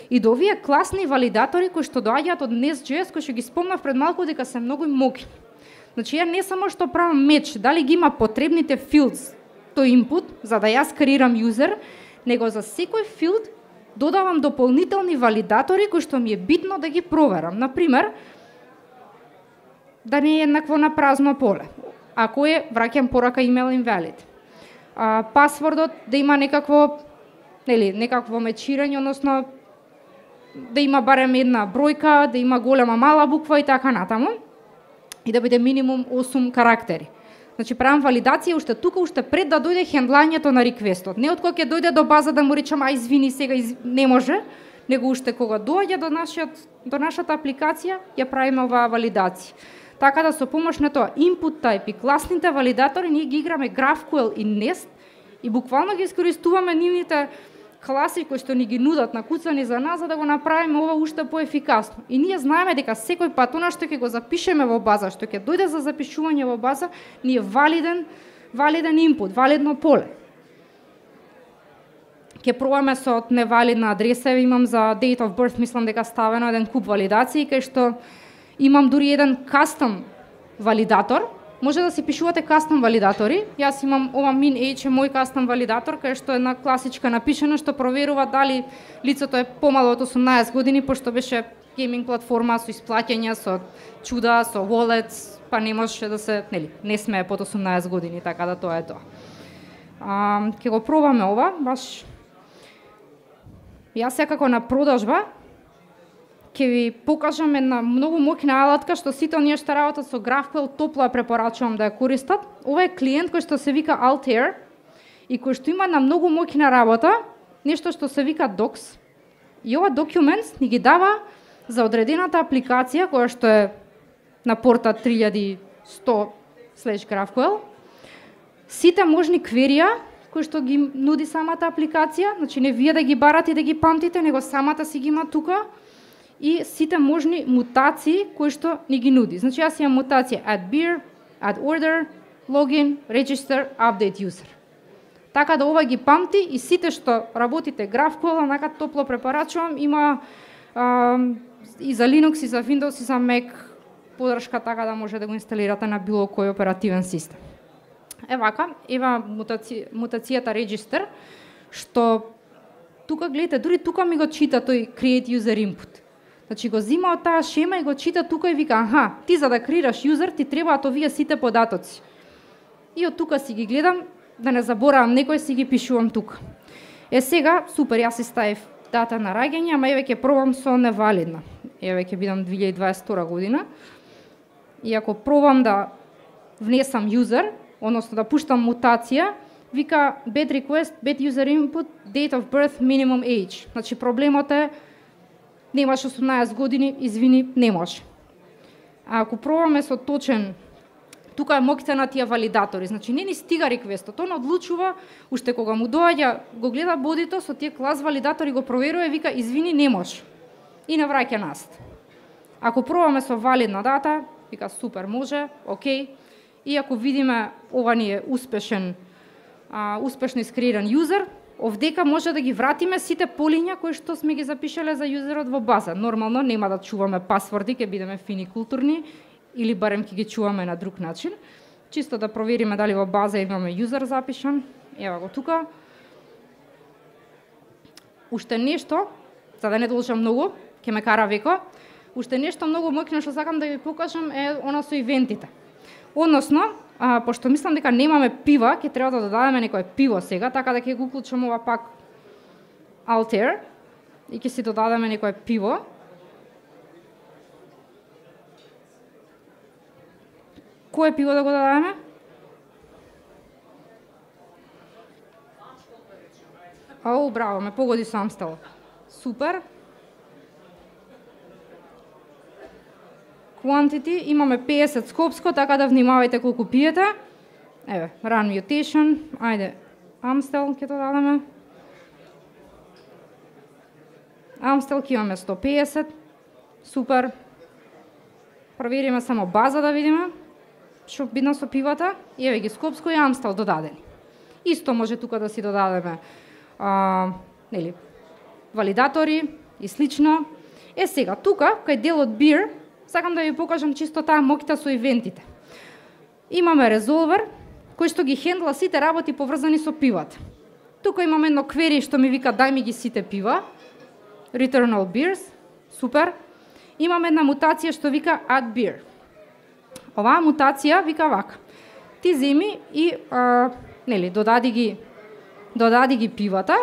и до овие класни валидатори кои што доаѓаат од Nest.js, кои што ги спомнав пред малку дека се многу моки. Значи ја не само што правам меч, дали ги има потребните fields тој input за да јас креирам юзер, него за секој field додавам дополнителни валидатори кои што ми е битно да ги проверам. Например, да не е еднакво на празно поле. Ако е, враќам порака email invalid. Пасвордот да има некакво мечирање, односно да има барем една бројка, да има голема мала буква и така натаму, и да биде минимум 8 карактери. Значи правам валидација уште тука, уште пред да дојде хендлањето на реквестот. Не од кога ќе дојде до база да му речам извини сега не може, него уште кога доаѓа до нашата апликација, ја правиме оваа валидација. Така да со помош на тоа input type и класните валидатори ние ги играме GraphQL и Nest и буквално ги искористуваме нивните класи кои што ни ги нудат накуцани за нас за да го направиме ова уште поефикасно. И ние знаеме дека секој пат она што ќе го запишеме во база, што ќе дојде за запишување во база, ни е валиден валиден инпут, валидно поле. Ке пробаме со невалидна адреса, имам за date of birth, мислам дека ставено еден куп валидации, кај што имам дури еден кастом валидатор. Може да си пишувате кастом валидатори. Јас имам ова min age е мој кастом валидатор, кај што е една класичка напишена што проверува дали лицето е помало од 18 години, пошто беше гейминг платформа со исплаќања, со чуда, со wallets, па не можеше да се, не смее под 18 години, така да тоа е тоа. Ке го пробаме ова, баш јас секако на продажба ќе ви покажам една многу моќна алатка што сите оние што работат со GraphQL топло ја препорачувам да ја користат. Ова е клиент кој што се вика Altair и кој што има на многу моќна работа нешто што се вика Docs. И ова Documents ни ги дава за одредената апликација која што е на порта 3100/GraphQL сите можни кверија кои што ги нуди самата апликација, значи не вие да ги барате и да ги памтите, него самата си ги има тука, и сите можни мутации кои што ни ги нуди. Значи јас имам мутација add beer, add order, login, register, update user. Така да ова ги памти и сите што работите GraphQL, онака топло препорачувам, има и за Linux, и за Windows, и за Mac подршка, така да може да го инсталирате на било кој оперативен систем. Евака, мутацијата register, што тука гледате, дури тука ми го чита тој create user input. Значи го зима од таа шема и го чита тука и вика, аха, ти за да креираш юзер ти требаат овие сите податоци. И од тука си ги гледам, да не заборавам некој, си ги пишувам тука. Сега, супер, јас си ставив дата на раѓање, ама еве ќе пробам со невалидна. Еве ќе бидам 2022 година. И ако пробам да внесам юзер, односно да пуштам мутација, вика bad request, bad user input, date of birth, minimum age. Значи проблемот е немаш 18 години, извини, не може. А ако пробаме со точен, тука е моќта на тие валидатори, значи не ни стига реквестот, он одлучува, уште кога му доаѓа, го гледа бодито, со тие клас валидатори го проверува и вика, извини, не може. И не враќа назад. Ако пробаме со валидна дата, вика, супер, може, окей. И ако видиме, ова ни е успешно искреиран юзер, овдека може да ги вратиме сите полиња кои што сме ги запишале за юзерот во база. Нормално нема да чуваме пасворди, ќе бидеме фини културни, или барем ќе ги чуваме на друг начин. Чисто да провериме дали во база имаме юзер запишан. Ева го тука. Уште нешто, за да не должам многу, ќе ме кара веко, уште нешто многу моќно што сакам да ви покажам е она со ивентите. Односно, пошто мислам дека немаме пива, ќе треба да додадеме некое пиво сега, така да ќе го уклучам ова пак Altair и ќе си додадеме некое пиво. Кое пиво да го додадеме? Ау, браво, ме погоди со Амстел. Супер. Quantity, имаме 50 скопско, така да внимавајте колку пиете. Еве, run mutation, ајде, Amstel ќе додадеме. Amstel ќе имаме 150, супер. Провериме само база да видиме што бидна со пивата. И еве ги скопско и Amstel додадени. Исто може тука да си додадеме валидатори и слично. Сега, тука, кај делот beer, сакам да ви покажам чисто таа моќта со ивентите. Имаме резолвер кој што ги хендла сите работи поврзани со пивата. Тука имаме едно query што ми вика дај ми ги сите пива. Return all beers. Супер. Имаме една мутација што вика add beer. Оваа мутација вика вака. Ти земи и додади ги пивата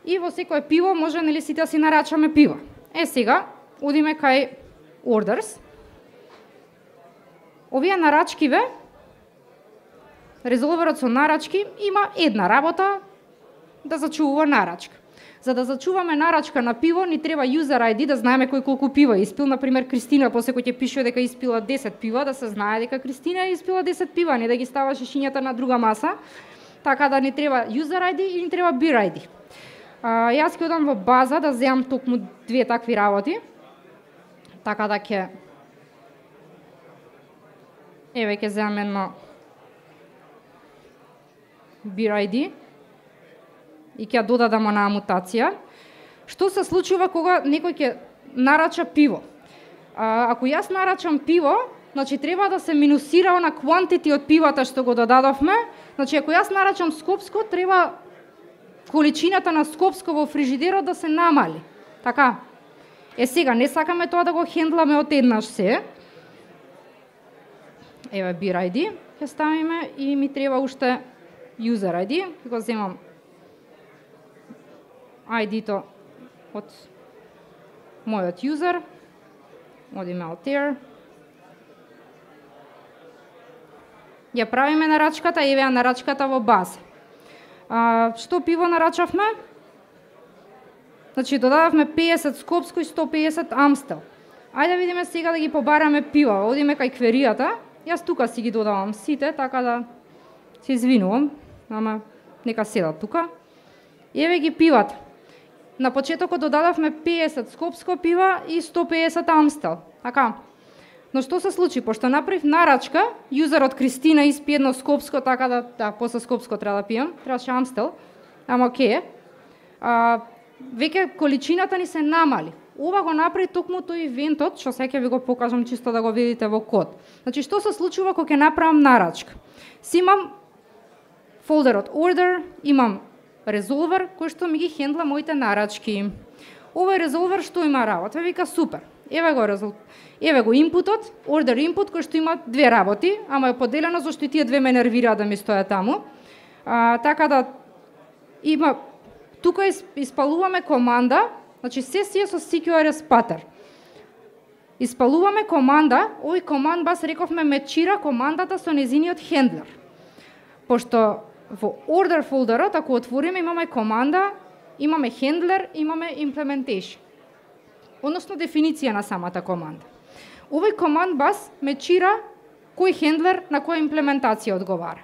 и во секое пиво може сите да си нарачаме пива. Сега одиме кај orders. Овие нарачкиве, резолверот со нарачки има една работа да зачувува нарачка. За да зачуваме нарачка на пиво, ни треба user ID да знаеме кој колку пива испил. Например, Кристина после кој ќе пише дека испила 10 пива, да се знае дека Кристина испила 10 пива, не да ги става шишињата на друга маса. Така да ни треба user ID и ни треба beer ID. Јас ќе одам во база да земам токму две такви работи. Така да ќе... Еве ќе земам едно beer ID и ќе додадам онаа мутација. Што се случува кога некој ќе нарача пиво? Ако јас нарачам пиво, значи треба да се минусира она quantity од пивата што го додадовме. Значи ако јас нарачам скопско, треба количината на скопско во фрижидерот да се намали. Така. Сега не сакаме тоа да го хендламе од еднаш се. Еве beer ID ќе ставиме и ми треба уште user ID. Го земам ID-то од мојот user. Одиме од there. Ја правиме нарачката, еве нарачката во база. Што пиво нарачавме? Значи додадавме 50 скопско и 150 амстел. Ајде видиме сега да ги побараме пива. Одиме кај кверијата. Јас тука си ги додавам сите, така да се извинувам, ама нека седат тука. Еве ги пивата. На почетокот додадавме 50 скопско пива и 150 амстел. Така. Но што се случи? Пошто направив нарачка, јузерот Кристина испи едно скопско, така да после скопско треба да пијам, требаше амстел, ама окей. Веќе количината ни се намали. Ова го направи токму тој ивентот, што сега ќе ви го покажам чисто да го видите во код. Значи што се случува кога ќе направам нарачка? Си имам фолдерот order, имам резолвер кој што ми ги хендла моите нарачки. Овој резолвер што има работа? Вика супер. Еве го инпутот, order input кој што има две работи, ама е поделено зашто и тие две ме нервираат да ми стојат таму. Така да има тука испалуваме команда, значи сесија со CQRS pattern. Испалуваме команда, овој команд бас рековме мечира командата со незиниот хендлер. Пошто во order фолдерот, ако отвориме, имаме команда, имаме хендлер, имаме implementation. Односно дефиниција на самата команда. Овој команд бас мечира кој хендлер на која имплементација одговара.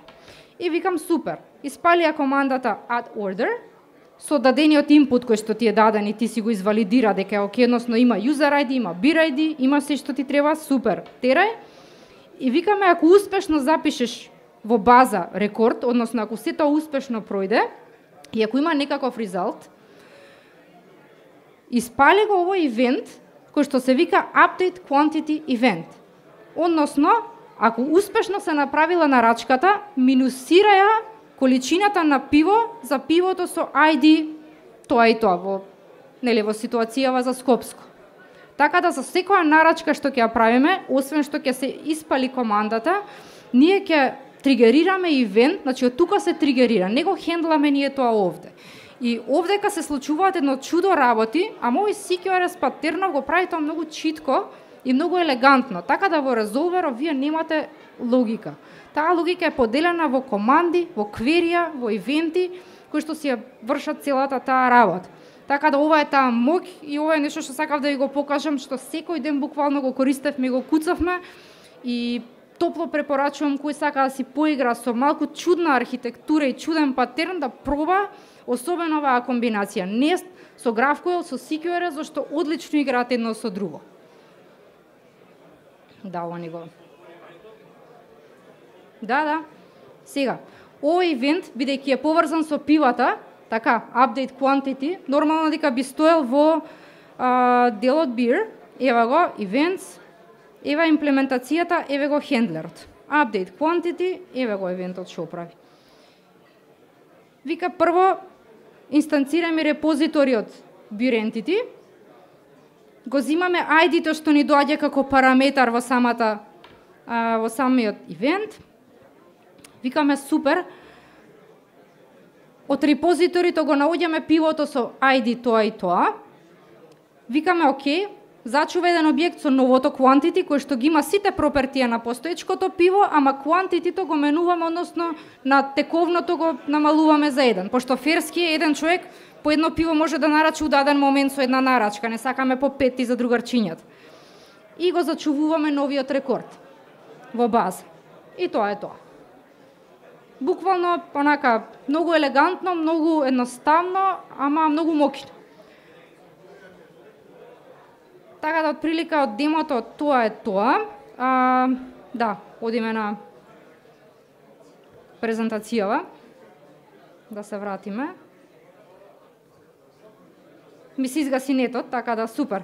И викам супер, испалија командата add order, со дадениот инпут кој што ти е даден и ти си го извалидира дека е окей, односно има user ID, има beer ID, има се што ти треба, супер, терај. И викаме ако успешно запишеш во база рекорд, односно ако сето успешно пројде и ако има некаков резулт, испали го овој ивент кој што се вика update quantity event. Односно, ако успешно се направила нарачката, минусира ја количината на пиво за пивото со ID тоа и тоа во ситуацијава за скопско. Така да за секоја нарачка што ќе ја правиме, освен што ќе се испали командата, ние ќе тригерираме ивент, значи од тука се тригерира, не го хендламе ние тоа овде. И овдека се случуваат едно чудо работи, а мој CQRS патернов го прави тоа многу читко и многу елегантно, така да во резолверот вие немате логика. Таа логика е поделена во команди, во кверија, во ивенти, кои што си ја вршат целата таа работа. Така да ова е таа моќ и ова е нешто што сакав да ви го покажам, што секој ден буквално го користевме и го куцавме и топло препорачувам кој сака да си поигра со малку чудна архитектура и чуден патерн да проба, особено оваа комбинација Nest со GraphQL со CQRS, зашто одлично играат едно со друго. Да, ова ни го. Да. Сега, овој ивент, бидејќи е поврзан со пивата, така, update quantity, нормално дека би стоел во делот beer, ева го, events, ева имплементацијата, еве го хендлерот. Update quantity, еве го ивентот што прави. Вика прво, инстанцираме репозиториот beer entity, го зимаме ID-то што ни доаѓа како параметар во самиот ивент. Викаме супер. Од репозиторито го наоѓаме пивото со ID тоа и тоа. Викаме окей, зачува еден објект со новото quantity кој што ги има сите пропертија на постоечкото пиво, ама quantity-то го менуваме, односно на тековното го намалуваме за 1, пошто ферски е еден човек по едно пиво може да нарачи у даден момент со една нарачка, не сакаме по 5 за другарчињата. И го зачувуваме новиот рекорд во база. И тоа е тоа. Буквално онака многу елегантно, многу едноставно, ама многу моќно. Така да отприлика од демото тоа е тоа. Да, одиме на презентацијава. Да се вратиме. Ми се изгаси нетот, така да супер.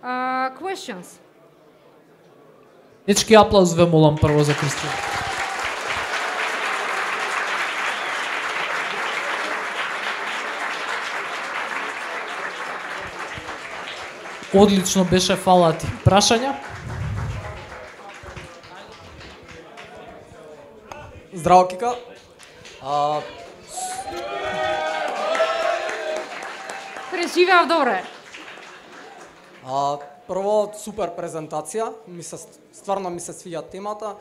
Questions? Дечки, аплауз ве молам прво за Кристина. Одлично беше, фала ти. Прашања? Здраво, Кика. Преживеав добре. Прво, супер презентација. Стварно ми се свиѓа темата.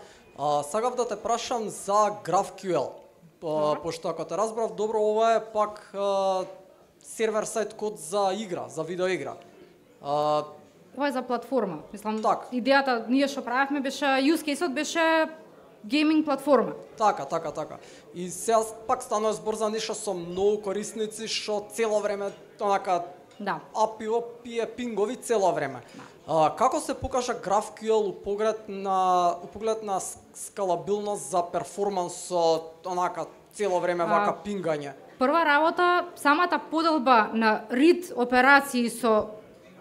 Сакав да те прашам за GraphQL. Пошто ако те разбрав добро, ова е пак сервер сайт код за игра, за видеоигра. Ова е за платформа. Мислам, Так. идејата ние што правевме беше, use case-от беше гейминг платформа. Така. И сега пак станува збор за нешто со многу корисници што цело време онака Да. API пие пингови цело време. Како се покажа GraphQL у поглед на скалабилност за перформанс онака цело време вака пингање? Прва работа, самата поделба на read операции со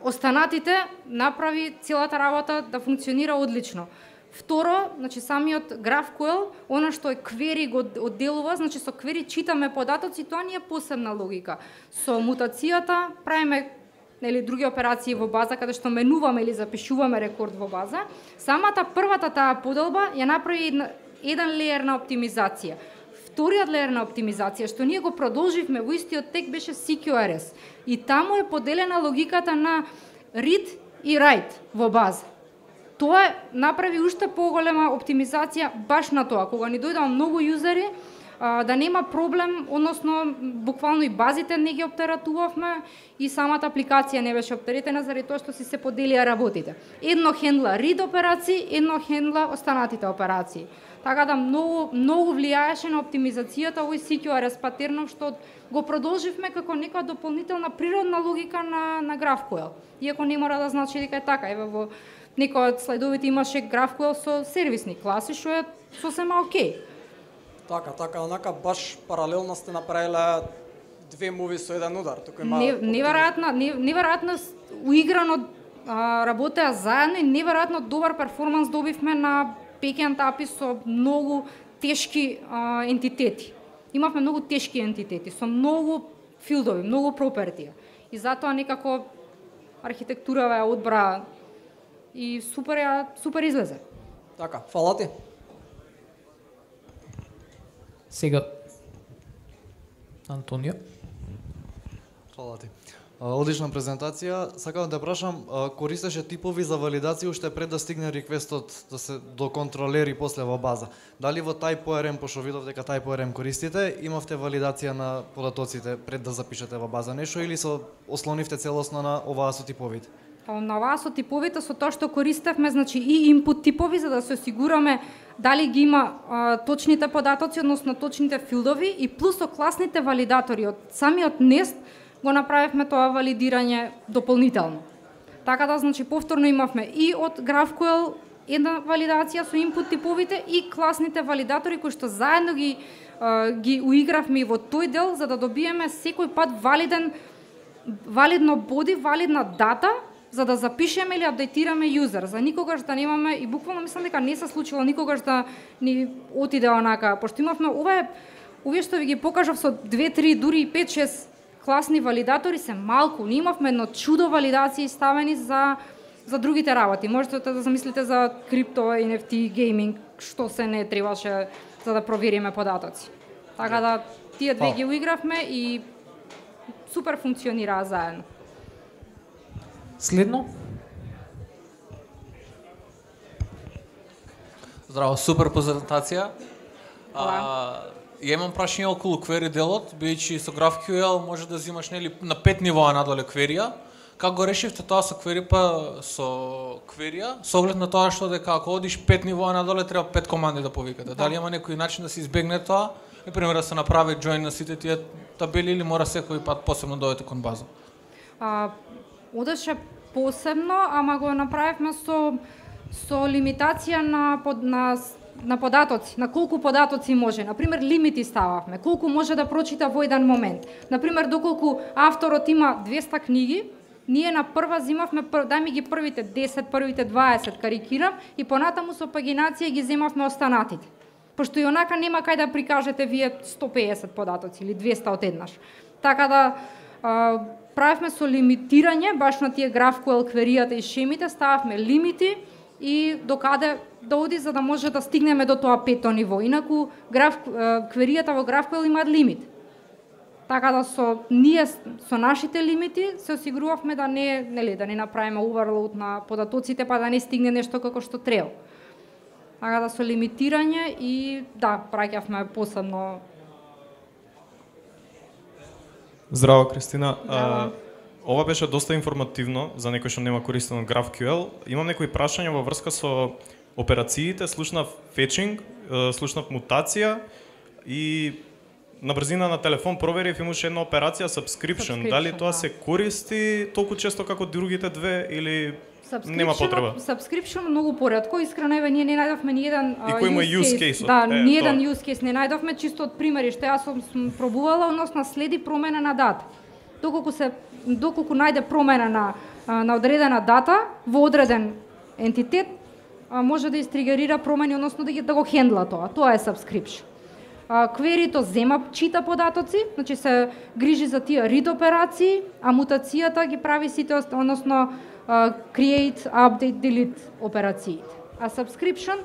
останатите направи целата работа да функционира одлично. Второ, значи самиот GraphQL, она што е query го одделува, значи со query читаме податоци, тоа не е посебна логика. Со мутацијата правиме други операции во база каде што менуваме или запишуваме рекорд во база. Самата првата таа поделба ја направи еден леер на оптимизација. Вториот леер на оптимизација што ние го продолживме во истиот тек беше CQRS. И таму е поделена логиката на read и write во база. Тоа направи уште поголема оптимизација баш на тоа, кога ни дојдоа многу јузери, да нема проблем, односно буквално и базите не ги оптератувавме и самата апликација не беше оптеретена заради тоа што си се поделија работите. Едно хендла read операции, едно хендла останатите операции. Така да многу влијаеше на оптимизацијата овој CQRS патернов што го продолживме како нека дополнителна природна логика на GraphQL. Иако не мора да значи дека е така. Еве во некој од слайдовите имаше GraphQL со сервисни класи, што е сосема окей. Така, онака баш паралелно сте направиле две муви со еден удар. Тука има неверојатно уиграно работеа заедно и неверојатно добар перформанс добивме на backend API со многу тешки ентитети. Имавме многу тешки ентитети со многу филдови, многу пропертија. И затоа некако архитектурава ја одбра и супер излезе. Така, фала ти. Сега Антонио. Фала ти. Одлична презентација. Сакам да те прашам, користеше типови за валидација уште пред да стигне реквестот до контролери после во база. Дали во TypeORM, пошто видов дека TypeORM користите, имавте валидација на податоците пред да запишете во база нешто или се ослонивте целосно на оваа со типовите? На оваа со типовите, со тоа што користевме, значи и input типови за да се осигураме дали ги има точните податоци, односно точните филдови и плюс со класните валидатори од самиот Nest го направивме тоа валидирање дополнително. Така да, значи, повторно имавме и од GraphQL една валидација со input типовите и класните валидатори кои што заедно ги уигравме и во тој дел за да добиеме секој пат валидно боди, валидна дата за да запишеме или апдейтираме юзер, за никогаш да немаме и буквално мислам дека не се случило никогаш да ни отиде онака, пошто имавме овие што ви ги покажав со 2, 3, дури 5, 6 класни валидатори се малку, ние имавме едно чудо валидации ставени за другите работи. Можете да замислите за крипто, NFT, гейминг, што се не требаше за да провериме податоци. Така да тие две ги уигравме и супер функционираа заедно. Следно? Здраво, супер презентација. Ја имам прашање околу query делот, бидејќи со GraphQL може да взимаш на 5 нивоа надоле query-а. Како го решивте тоа со query па со query-а? Со оглед на тоа што дека ако одиш 5 нивоа надоле треба 5 команди да повикате. Дали има некој начин да се избегне тоа? Например да се направи join на сите тие табели или мора секој пат посебно да одите кон база? Одеше посебно, ама го направивме со лимитација на на податоци, на колку податоци може. Например, лимити стававме, колку може да прочита во еден момент. Например, доколку авторот има 200 книги, ние на прва земавме, дај ми ги првите 10, првите 20, карикирам, и понатаму со пагинација ги земавме останатите. Пошто и онака нема кај да прикажете вие 150 податоци или 200 одеднаш. Така да правевме со лимитирање, баш на тие GraphQL кверијата и шемите, стававме лимити и докаде да оди за да може да стигнеме до тоа пето ниво. Инаку кверијата во GraphQL имаат лимит. Така да ние со нашите лимити се осигурувавме да да не направиме overload на податоците, па да не стигне нешто како што треба. Така да со лимитирање и праќавме посебно. Здраво, Кристина. Ова беше доста информативно за некој што нема користено GraphQL. Имам некои прашања во врска со операциите, слушнав fetching, слушнав мутација и на брзина на телефон проверив имаше една операција subscription. Дали тоа се користи толку често како другите две или нема потреба? Subscription многу поретко, искрено ние не најдовме ни еден use case. Да, ни еден use case не најдовме, чисто од примери што јас сум пробувала, односно следи промена на дата. Доколку најде промена на одредена дата во одреден ентитет, може да истригерира промени, односно да го хендла тоа. Тоа е subscription. Кверито чита податоци, значи се грижи за тие read операции, а мутацијата ги прави сите, односно create, update, delete операциите. А subscription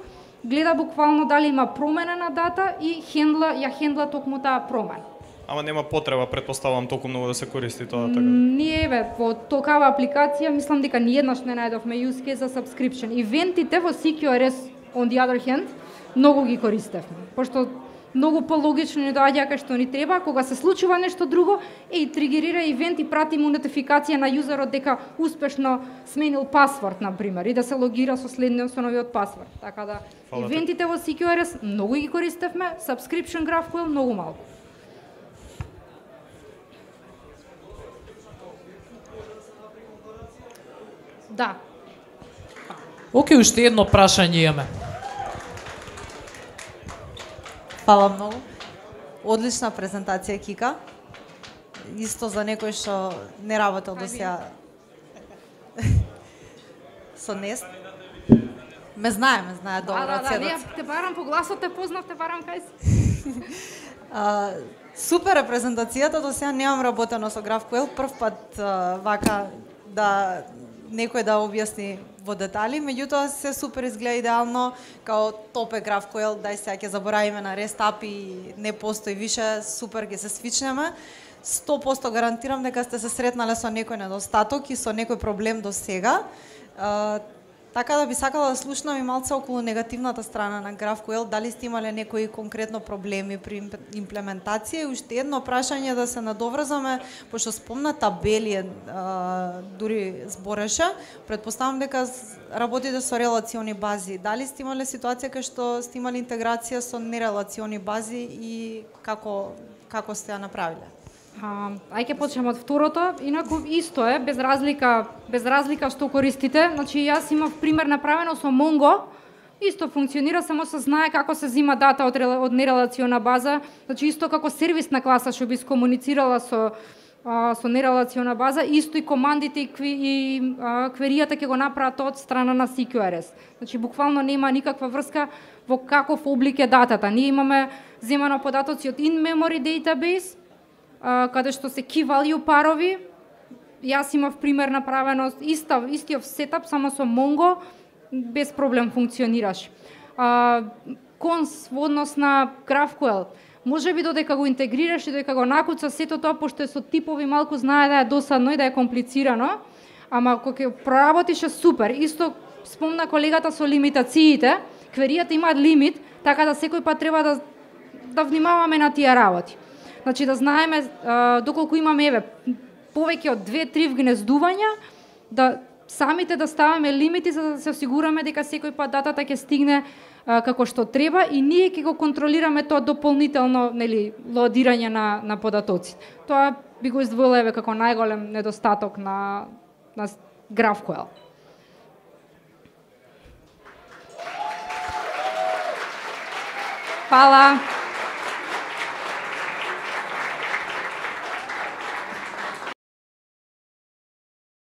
гледа буквално дали има промена на дата и ја хендла токму таа промена. Ама нема потреба, претпоставувам, толку многу да се користи тоа така. Ние во токава апликација мислам дека ниеднаш не најдовме use case за subscription. Ивентите во CQRS on the other hand многу ги користевме, пошто многу пологично ни доаѓа кај што ни треба, кога се случува нешто друго, тригерира ивент и прати му нотификација на јузерот дека успешно сменил пасворд, на пример, и да се логира со новиот пасворд. Така да, ивентите во CQRS многу ги користевме, subscription GraphQL многу малку. Да. Океј, уште едно прашање имаме. Фала многу. Одлична презентација, Кика. Исто за некој што не работел до сега со Нест. Ме знае добро. Да, те барам по гласот, те познав, те барам кај си. Супер е презентацијата, до сега немам работено со GraphQL, прв пат вака да некој да објасни во детали, меѓутоа се супер изгледа идеално, као топ е GraphQL, дај сега ќе заборавиме на REST API, не постои више, супер ќе се свичнеме. 100% гарантирам дека сте се сретнале со некој недостаток и со некој проблем до сега. Така да би сакала да слушнам и малце околу негативната страна на GraphQL, дали сте имале некои конкретно проблеми при имплементација, и уште едно прашање да се надоврзаме, пошто спомна табели, дури збореше, претпоставам дека работите со релациони бази. Дали сте имале ситуација кај што сте имали интеграција со нерелациони бази и како сте ја направиле? Ајде почнеме од второто, инаку исто е, без разлика што користите. Значи јас имав пример направено со Mongo, исто функционира, само се знае како се зима дата од нерелациона база, значи исто како сервисна класа што би скомуницирала со нерелациона база, исто и командите и кверијата ќе го направат од страна на CQRS. Значи буквално нема никаква врска во каков облик е датата. Ние имаме земано податоци од in-memory database, каде што се key value парови. Јас имав пример направено истиот сетап, само со Mongo, без проблем функционираш. Конс во однос на GraphQL, може би додека го интегрираш и додека го накуца сето тоа, пошто е со типови, малку знае да е досадно и да е комплицирано, ама кога ќе проработиш е супер. Исто спомна колегата со лимитациите, кверијата имаат лимит, така да секој пат треба да внимаваме на тие работи. Значи да знаеме доколку имаме повеќе од 2-3 вгнездувања, да самите да ставаме лимити за да се осигураме дека секој пат датата ќе стигне како што треба и ние ќе го контролираме тоа дополнително, лоадирање на податоци. Тоа би го издвоила како најголем недостаток на GraphQL. Фала.